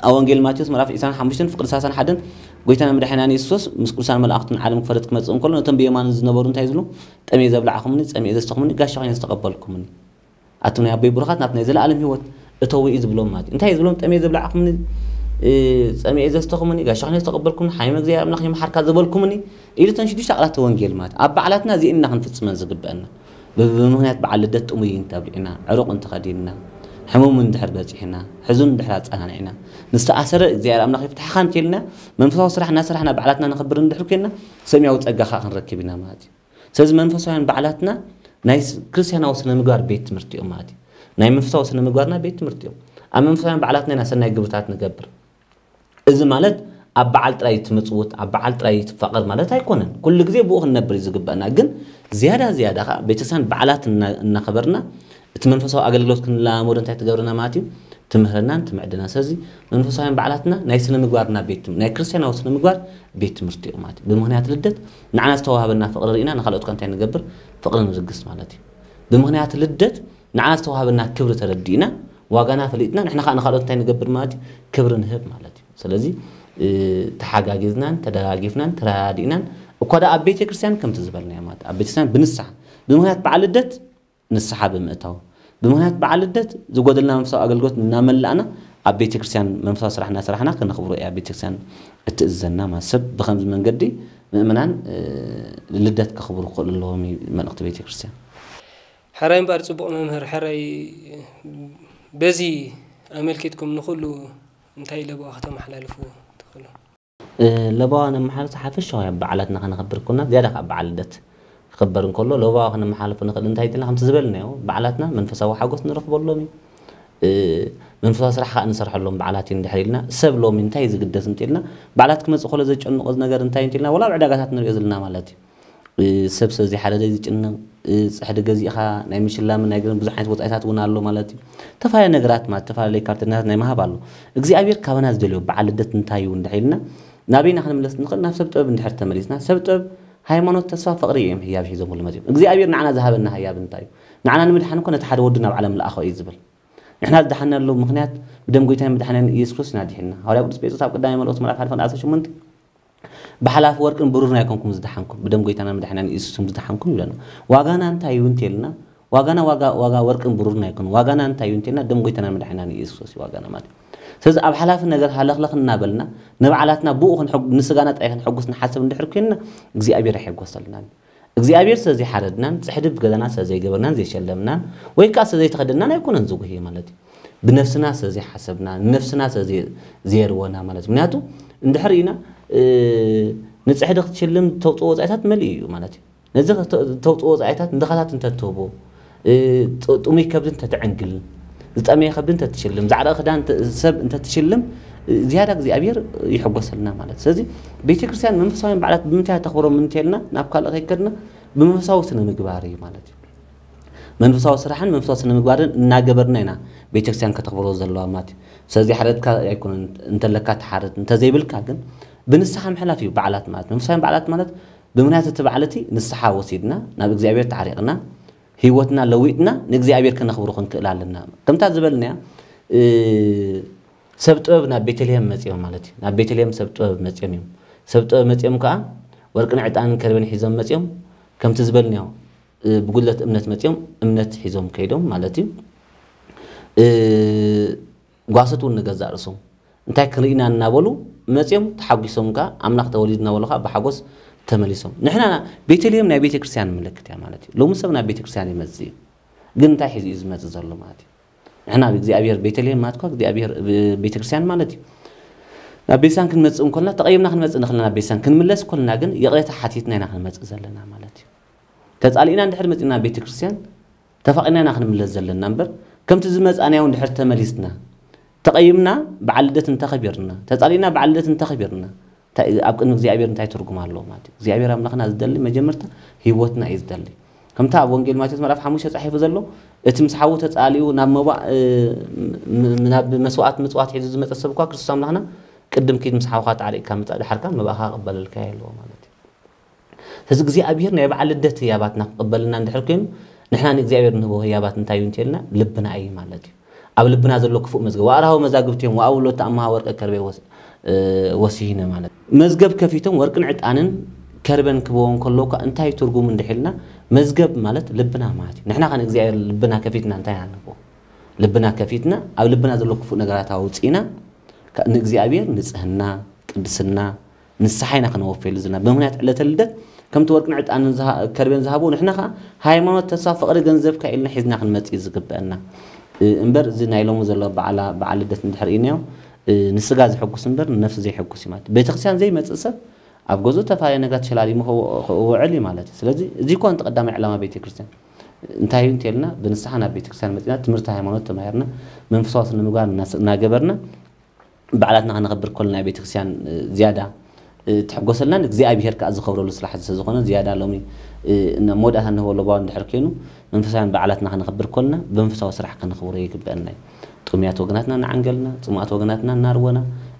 ኣብ ወንጌል ማቴዎስ ምዕራፍ ዕስራን ሓሙሽተን ፍቕዲ ሰላሳን ሓደን ጎይታና መድሓኒና ኢየሱስ ምስ ቅዱሳን መላእኽቱን ዓለም ክፈርድ ክመጽእ እንከሎ ነቶም ብየማኑ ዝነበሩ እንታይ ዝብሉ? ጠምየ ዘብላዕኹምኒ፣ ጸሚኤ ዘስተኹምኒ፣ ጋሻ ኮይነ ዝተቐበልኩምኒ ኣቱም ናይ ኣቦይ ብሩኻት ናብቲ ናይ ዘለኣለም ህይወት እተዉ እዩ ዝብሎም ማለት እዩ። እንታይ እዩ ዝብሎም? ጠምየ ዘብላዕኹምኒ፣ እ፣ ጸሚኤ ዘስተኹምኒ፣ ጋሻ ኮይነ ዝተቐበልኩምኒ፣ ሓይመ እግዚኣብሔር ኣምላኽ ይምሓርካ ዝበልኩምኒ ኢሉ እተን ሽዱሽተ ቃላት ወንጌል ማለት ኣብ በዓላትና እዚእና ክንፍጽመን ዝግበአና። ብ-፣ ብምኽንያት በዓል ልደት ጥሙይ እንተብሊዕና፣ ዕሩቕ እንተኸዲንና፣ ሕሙም እንድሕር በጺሕና፣ ሕዙን እንድሕር ኣጸናኒዕና፣ ንዝተኣሰረ እግዚኣብሔር ኣምላኽ ይፍትሓኻ እንተልና፣ መንፈሳዊ ስራሕ እናሰራሕና በዓላትና ነኽብር እንድሕር ኮይንና፣ ሰማያዊ ጸጋ ኸኣ ክንረክብ ኢና ማለት እዩ። ስለዚ መንፈሳውያን በዓላትና ናይ ስ-፣ ክርስትያናዊ ስነ ምግባር ቤት ትምህርቲ እዮም ማለት እዩ። ናይ መንፈሳዊ ስነ ምግባርና ቤት ትምህርቲ እዮም። ኣብ መንፈሳውያን በዓላትና ኢና ሰናይ ግብርታት ንገብር። እዚ ማለት ኣብ በዓል ጥራይ ትምጽውት፣ ኣብ በዓል ጥራይ ትፋቐር ማለት ኣይኮነን። ኩሉ ግዜ ብኡ ክንነብር እዩ ዝግበአና። ግን ዝያዳ ዝያዳ ኸዓ ቤተክርስትያን በዓላት እና-፣ እናኸበርና እቲ መንፈሳዊ ኣገልግሎት ክንለማመዶ እንታይ ትገብረና ማለት እዩ? ትምህረናን ትምዕድና። ስለዚ መንፈሳውያን በዓላትና ናይ ስነ ምግባርና ቤት ትም-፣ ናይ ክርስትያናዊ ስነ ምግባር ቤት ትምህርቲ እዩ ማለት እዩ። ብምኽንያት ልደት ንዓና ዝተዋህበና ፍቕሪ ርኢና ንኻልኦት ከ እንታይ ንገብር? ፍቕሪ ንልግስ ማለት እዩ። ብምኽንያት ልደት ንዓና ዝተዋህበና ክብሪ ተረዲእና ዋጋና ፈሊጥና ንሕና ከዓ ንኻልኦት እንታይ ንገብር ማለት እዩ? ክብሪ ንህብ ማለት እዩ። ስለዚ እ፣ ተሓጋጊዝናን ተደጋጊፍናን ተረዳዲእናን እኳ ደኣ ኣብ ቤተ ክርስቲያን ከምቲ ዝበልናዮ ማለት ኣብ ቤተ ክርስቲያን ብንስሓ ብምኽንያት በዓል ልደት ንስሓ ብምእታው ብምኽንያት በዓል ልደት ዝጎደልና መንፈሳዊ ኣገልግሎት እናመላእና ኣብ ቤተ ክርስቲያን መንፈሳዊ ስራሕ እናሰራሕና ከነኽብሮ እያ ቤተ ክርስቲያን እትእዝዘና ማለት ሰብ ብኸምዚ መንገዲ ምእመናን እ፣ ልደት ከኽብሩ ክኽእሉ ኣለዎም እዩ መልእኽቲ ቤተ ክርስቲያን። ሕራይ እምበኣር ጽቡቕ መምህር፣ ሕራይ በዚ ኣመልኪትኩም ንኹሉ እንታይ ለበዋ ከተመሓላልፉ ትኽእሉ? ለበዋ ነመሓላልፍ ሓፈሻዊ ኣብ በዓላትና ከነኽብር ኮና ዝያዳ ካብ በዓል ልደት ክኽበር እንከሎ ለበዋ ከነመሓላልፎ ንኽእል እንታይ ኢልና ከምቲ ዝበልናዮ በዓላትና መንፈሳዊ ሓጎስ ንረኽበሎም እዩ። መንፈሳዊ ስራሕ ከዓ ንሰርሐሎም በዓላት እዩ እንድሕር ኢልና ሰብ ሎሚ እንታይ እዩ ዝግደስ እንተኢልና በዓላት ክመፅእ ከሎ ዘጨንቆ ነገር እንታይ እንተኢልና ወላ ኣብ ዕዳጋታት ንሪኦ ዘለና ማለት እዩ። ሰብ ሰብ ዘይሓደደ ዝጭነቕ፣ ፅሕዲ ገዚእኻ ናይ ምሽላምን ናይ ገለን ብዙሕ ዓይነት ወፃኢታት እውን ኣሎ ማለት እዩ። ዝተፈላለዩ ነገራት ማለት ዝተፈላለዩ ካርተኛታት ናይ ምሃብ ኣሎ። እግዚኣብሔር ካባና ዝደልዮ በዓል ልደት እንታይ እዩ እንድሕር ኢልና ናበይና ክንምለስ ንኽእል ናብ ሰብ ጥበብ እንድሕር ተመሊስና ሰብ ጥበብ ሃይማኖት ተስፋ ፍቕሪ እዮም ህያብ ሒዞምሉ መፅዮም እግዚኣብሔር ንዓና ዝሃበና ህያብ እንታይ እዩ? ንዓና ንምድሓን እኮ ነቲ ሓደ ወዱ ናብ ዓለም ለኣኸ እዩ ዝብል። ንሕና ዝደሓናሉ ምኽንያት ብደም ጎይታን መድሓኒን ኢየሱስ ክርስቶስ ኢና ድሒንና። ሃዋርያ ቅዱስ ጴጥሮስ ኣብ ቀዳማይ መልእኽቱ ምዕራፍ ሓደ ፍቕዲ ዓሰርተ ሸሞንተ ብሓላፊ ወርቅን ብሩርን ኣይኮንኩም ዝደሓንኩም ብደም ጎይታና መድሓኒን ኢየሱስ ክርስቶስ ዝደሓንኩም ይብለና። ዋጋና እንታይ እዩ እንተልና ዋጋና ዋጋ ዋጋ ወርቅን ብሩርን ኣይኮን ዋጋና እንታይ እዩ እንተልና ደም ጎይታና መድሓኒና ኢየሱስ ክርስቶስ ዋጋና ማለት እዩ። ስለዚ ኣብ ሓላፊ ነገር ሃለኽለኽ እናበልና ንባዕላትና ብኡ ክንሕጉ ንስጋና ጥራይ ክንሕጉስ ንሓስብ እንድሕር ኮይንና እግዚኣብሔር ኣይሕጎሰልናን። እግዚኣብሔር ስለ ዘይሓረድናን ፅሕዲ ብገዛና ስለ ዘይገበርናን ዘይሸለምናን ወይ ከዓ ስለ ዘይተኸደናን ኣይኮነን ዝጉህይ ማለት እዩ። ብነፍስና ስለ ዘይሓሰብና ንነፍስና ስለ ዘየርወና ማለት እዩ። ምክንያቱ እንድሕር ኢና ንፅሕዲ ክትሽልም ተውፅኦ ወፃኢታት መሊኡ እዩ ማለት እዩ። ነዚ ተውፅኦ ወፃኢታት ንድኻታት እንተትህቦ ጥሙይ ከብዲ እንተትዕንግል ዝጠመየ ከብዲ እንተትሽልም ዛዕዳ ክዳን ሰብ እንተትሽልም ዝያዳ እግዚኣብሔር ይሕጎሰልና ማለት ስለዚ ቤተክርስትያን መንፈሳውያን በዓላት ብምንታይ ተኽብሮም እንተልና ናብ ካልእ ከይከድና ብመንፈሳዊ ስነ ምግባር እዩ ማለት እዩ። መንፈሳዊ ስራሕን መንፈሳዊ ስነ ምግባርን እናገበርና ኢና ቤተክርስትያን ከተኽብሮ ዘለዋ ማለት እዩ። ስለዚ ሓረድካ ኣይኮነን እንተለካ ትሓርድ እንተዘይብልካ ግን ብንስሓ ምሕላፍ እዩ በዓላት ማለት መንፈሳውያን በዓላት ማለት ብምክንያት እቲ በዓል እቲ ንስሓ ወሲድና ናብ እግዚኣብሔር ተዓሪቕና ህይወትና ለዊጥና ንእግዚኣብሔር ከነኽብሮ ክንክእል ኣለና። ከምታ ዝበልናያ ሰብ ጥበብ ናብ ቤተልሔም መፅዮም ማለት እዩ። ናብ ቤተልሔም ሰብ ጥበብ መፅዮም እዮም። ሰብ ጥበብ መፅዮም ከዓ ወርቅን ዕጣንን ከርቤን ሒዞም መፅዮም ከምቲ ዝበልናዮ ብጉድለት እምነት መፅዮም እምነት ሒዞም ከይዶም ማለት እዩ። ጓሶት እውን ንገዛእ ርእሶም እንታይ ክንርኢ ኢና እናበሉ መፅኦም ተሓጒሶም ከዓ ኣምላኽ ተወሊዱ እናበሉ ከዓ ብሓጎስ ተመሊሶም። ንሕና ቤተልሔም ናይ ቤተ ክርስቲያን ምልክት እያ ማለት እዩ። ሎሚ ሰብ ናብ ቤተ ክርስቲያን ይመፅእ እዩ፣ ግን እንታይ ሒዙ እዩ ዝመፅእ ዘሎ ማለት እዩ። ንሕና እግዚኣብሔር ቤተልሔም ማለት እኳ እግዚኣብሔር ቤተ ክርስቲያን ማለት እዩ። ናብ ቤተክርስትያን ክንመፅእ እንኮልና ተቐይምና ክንመፅእ ንኽእልና ናብ ቤተክርስትያን ክንምለስ እንኮልና ግን ይቕሬታ ሓቲትና ኢና ክንመፅእ ዘለና ማለት እዩ። ተፃሊእና እንድሕር መፂና ቤተክርስትያን ተፋቒና ኢና ክንምለስ ዘለና እምበር ከምቲ ዝመፃእናዮ እንድሕር ተመሊስና ተቐይምና በዓል ልደት እንተኸቢርና ተፃሊእና በዓል ልደት እንተኸቢርና እንታይ ኣብ ቅድሚ እግዚኣብሔር እንታይ ትርጉም ኣለዎ ማለት እዩ እግዚኣብሔር ኣምላኽና ዝደሊ መጀመርታ ህይወትና እዩ ዝደሊ ከምታ ኣብ ወንጌል ማቴዎስ ምዕራፍ ሓሙሽተ ተፃሒፉ ዘሎ እቲ ምስ ሓዉ ተፃሊኡ ናብ መባእ ናብ መስዋዕት ምፅዋት ሒዙ ዝመፀ ሰብ እኳ ክርስቶስ ኣምላኽና ቅድም ኪድ ምስ ሓውካ ተዓሪቅካ ምፃእ ድሓርካ መባእካ ክቕበለልካ ኣለዎ ማለት እዩ ስለዚ እግዚኣብሔር ናይ በዓል ልደት ህያባትና ክቕበልና እንድሕር ኮይኑ ንሕና ንእግዚኣብሔር ንህቦ ህያባት እንታይ እዩ እንተልና ልብና እዩ ማለት እዩ። ኣብ ልብና ዘሎ ክፉእ መዝገብ፣ ወኣርሃው መዛግብቲዮም ወኣውሎ ተኣምሃ ወርቀ ከርቤ ወስ-፣ እ፣ ወሲሂነ ማለት። መዝገብ ከፊቶም ወርቅን ዕጣንን ከርበን ክበዎም ከለውካ እንታይ ትርጉም እንድሒልና፣ መዝገብ ማለት ልብና ማለት እዩ። ንሕና ከ ንእግዚኣብሔር ልብና ከፊትና እንታይ ኢና ንብዎ? ልብና ከፊትና፣ ኣብ ልብና ዘሎ ክፉእ ነገራት ኣውፂእና፣ ከ-፣ ንእግዚኣብሔር ንጽህና፣ ቅድስና፣ ንስሓ ኢና ክነወፈሉ ዝና። ብምኽንያት ዕለተ ልደት ከምቲ ወርቅን ዕጣንን ዝሃ-፣ ከርቤን ዝሃብዎ፣ ንሕና ኸዓ ሃይማኖት፣ ተስፋ፣ ፍቕሪ፣ ገንዘብካ ኢልና ሒዝና ክንመጽእ እዩ ዝግበአና። እ፣ እምበር እዚ ናይ ሎሚ ዘሎ በዓላ-፣ በዓል ልደት እንድሕር ኢናዮ፣ እ፣ ንስጋ ዘሐጉስ እምበር ንነፍሲ ዘይሐጉስ እዩ ማለት። ቤተክርስትያን ዘይመጽእ ሰብ ኣብ ገዝኡ ተፈላለየ ነገራት ሸላሊሙ ክው-፣ ክውዕል እዩ ማለት እዩ። ስለዚ እዚ እኮ እቲ ቀዳማይ ዕላማ ቤተክርስትያን። እንታይ እዩ እንተልና፣ ብንስሓ ናብ ቤተክርስትያን መጺና፣ ትምህርቲ ሃይማኖት ተማሂርና፣ መንፈሳዊ ስነ ምግባር እናስ-፣ እናገበርና፣ በዓላትና ከነኽብር ከለና ቤተክርስትያን፣ እ፣ ዝያዳ፣ እ፣ ትሕጎሰልናን እግዚኣብሄር ከኣ ዝኸብረሉ ስራሕ ስለ ዝኾነ ዝያዳ ሎሚ፣ እ፣ ን-፣ መወዳእታ ንህቦ ለባዊ እንድሕር ኮይኑ መንፈሳውያን በዓላትና ከነኽብር ከለና ብመንፈሳዊ ስራሕ ከነኽብሮ ይግበአና እዩ። ጥሙያት ወገናትና እናዓንገልና፣ ጽሙኣት ወገናትና እናርወና፣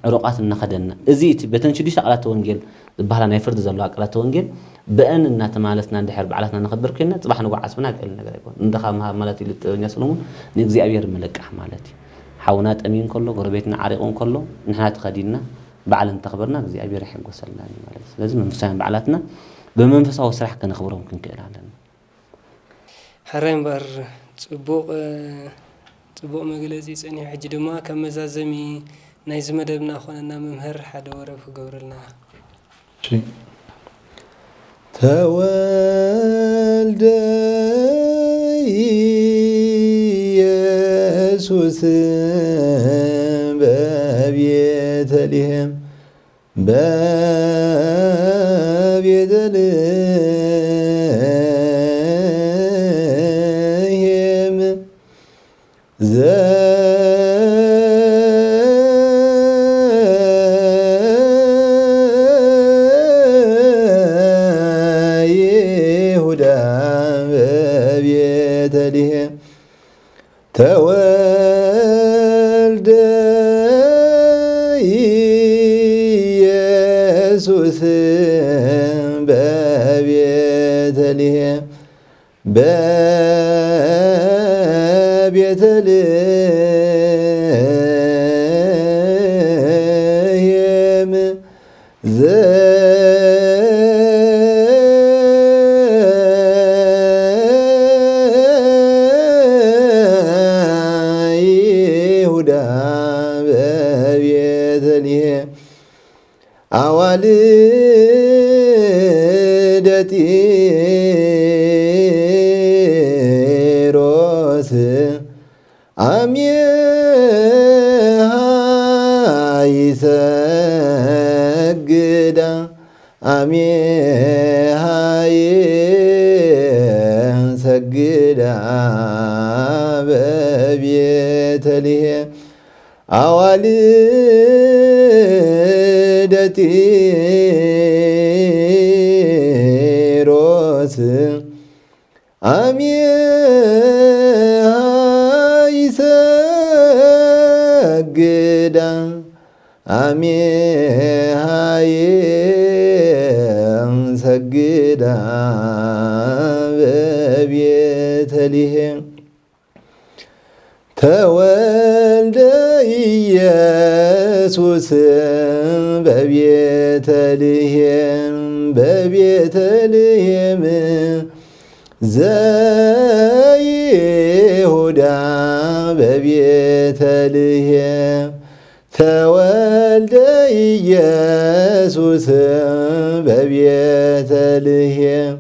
ዕሩቓት እናኸደንና። እዚ እቲ በተን ሽዱሽተ ቃላተ ወንጌል ዝበሃላ ናይ ፍርዲ ዘለዋ ቃላተ ወንጌል ብአን እናተማለስና እንድሕር በዓላትና ነኽብር ኮይንና፣ ጽባሕ ንግሆ ዓስብና ቀሊል ነገር ኣይኮነን። እንድኻ ምሃብ ማለት ኢሉ ጥበበኛ ሰሎሞን ንእግዚኣብሄር ምልቃሕ ማለት እዩ። ሓውና ጠምዩ እንከሎ፣ ጎረቤትና ዓሪቑ እንከሎ፣ ንሕና ተኸዲንና በዓል እንተኽበርና እግዚኣብሔር ይሕጎሰልና እዩ ማለት እዩ። ስለዚ መንፈሳውያን በዓላትና ብመንፈሳዊ ስራሕ ከነኽብሮም ክንክእል ኣለና። ሕራይ እምበኣር ጽቡቕ፣ ጽቡቕ መግለጺ ጸኒሑ። ሕጂ ድማ ከም መዛዘሚ ናይዚ መደብና ክኾነና መምህር ሓደ ወረብ ክገብረልና። እሺ። ተወልደ ኢየሱስ በቤተልሔም፣ በቤተልሔም። ዘይሁዳ በቤተልሔም ተወልደ ኢየሱስ በቤተልሔም በቤተልሔም ዘይሁዳ በቤተልሔም አዋልደ ጢሮስ አሜሃ ይሰግዳ፣ አሜሃ ይሰግዳ በቤተልሔም። አዋልደ ጢሮስ አሜሃ ይሰግዳ፣ አሜሃ ይሰግዳ በቤተልሔም። ተወልደ ኢየሱስ በቤተልሔም፣ በቤተልሔም ዘይሁዳ በቤተልሔም። ተወልደ ኢየሱስ በቤተልሔም፣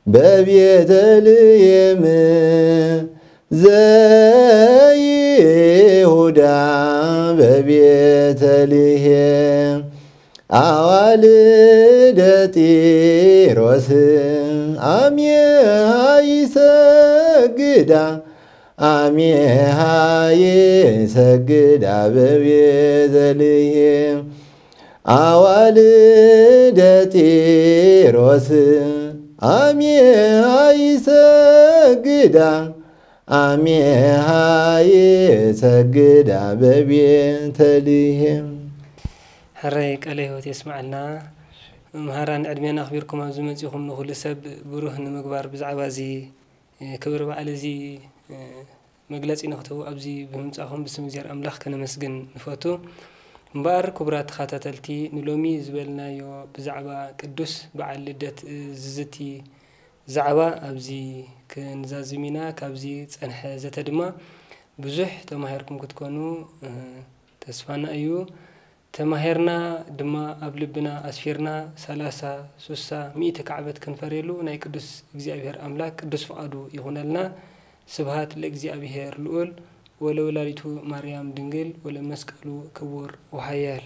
በቤተልሔም ዘይሁዳ በቤተልሔም። አዋልደ ጢሮስ አሜሃ ይሰግዳ፣ አሜሃ ይሰግዳ በቤተልሔም። አዋልደ ጢሮስ አሜሃ ይሰግዳ፣ አሜሃ ይሰግዳ በቤተልሔም። ሕራይ ቃለ ሕይወት የስምዓልና። መምህራን ዕድሜና ኣኽቢርኩም ኣብዚ መጺኹም ንኹሉ ሰብ ብሩህ ንምግባር ብዛዕባ እዚ፣ እ፣ ክብሪ በዓል እዚ፣ እ፣ መግለጺ ንክትህቡ ኣብዚ ብምምጻኹም ብስም እግዚኣብሔር ኣምላኽ ከነመስግን ንፈቱ። እምበኣር ክቡራት ተኸታተልቲ፣ ንሎሚ ዝበልናዮ ብዛዕባ ቅዱስ በዓል ልደት ዝዝቲ ዛዕባ ኣብዚ ክንዛዝም ኢና። ካብዚ ጸንሐ ዘተ ድማ ብዙሕ ተማሂርኩም ክትኮኑ፣ እ፣ ተስፋና እዩ። ተማሂርና ድማ ኣብ ልብና ኣስፊርና ሰላሳ፣ ስሳ፣ ሚእቲ ካዕበት ክንፈርየሉ ናይ ቅዱስ እግዚኣብሔር ኣምላክ ቅዱስ ፍቓዱ ይኹነልና። ስብሃት ለእግዚኣብሔር ልዑል ወለወላዲቱ ማርያም ድንግል ወለመስቀሉ ክቡር ወሃያል።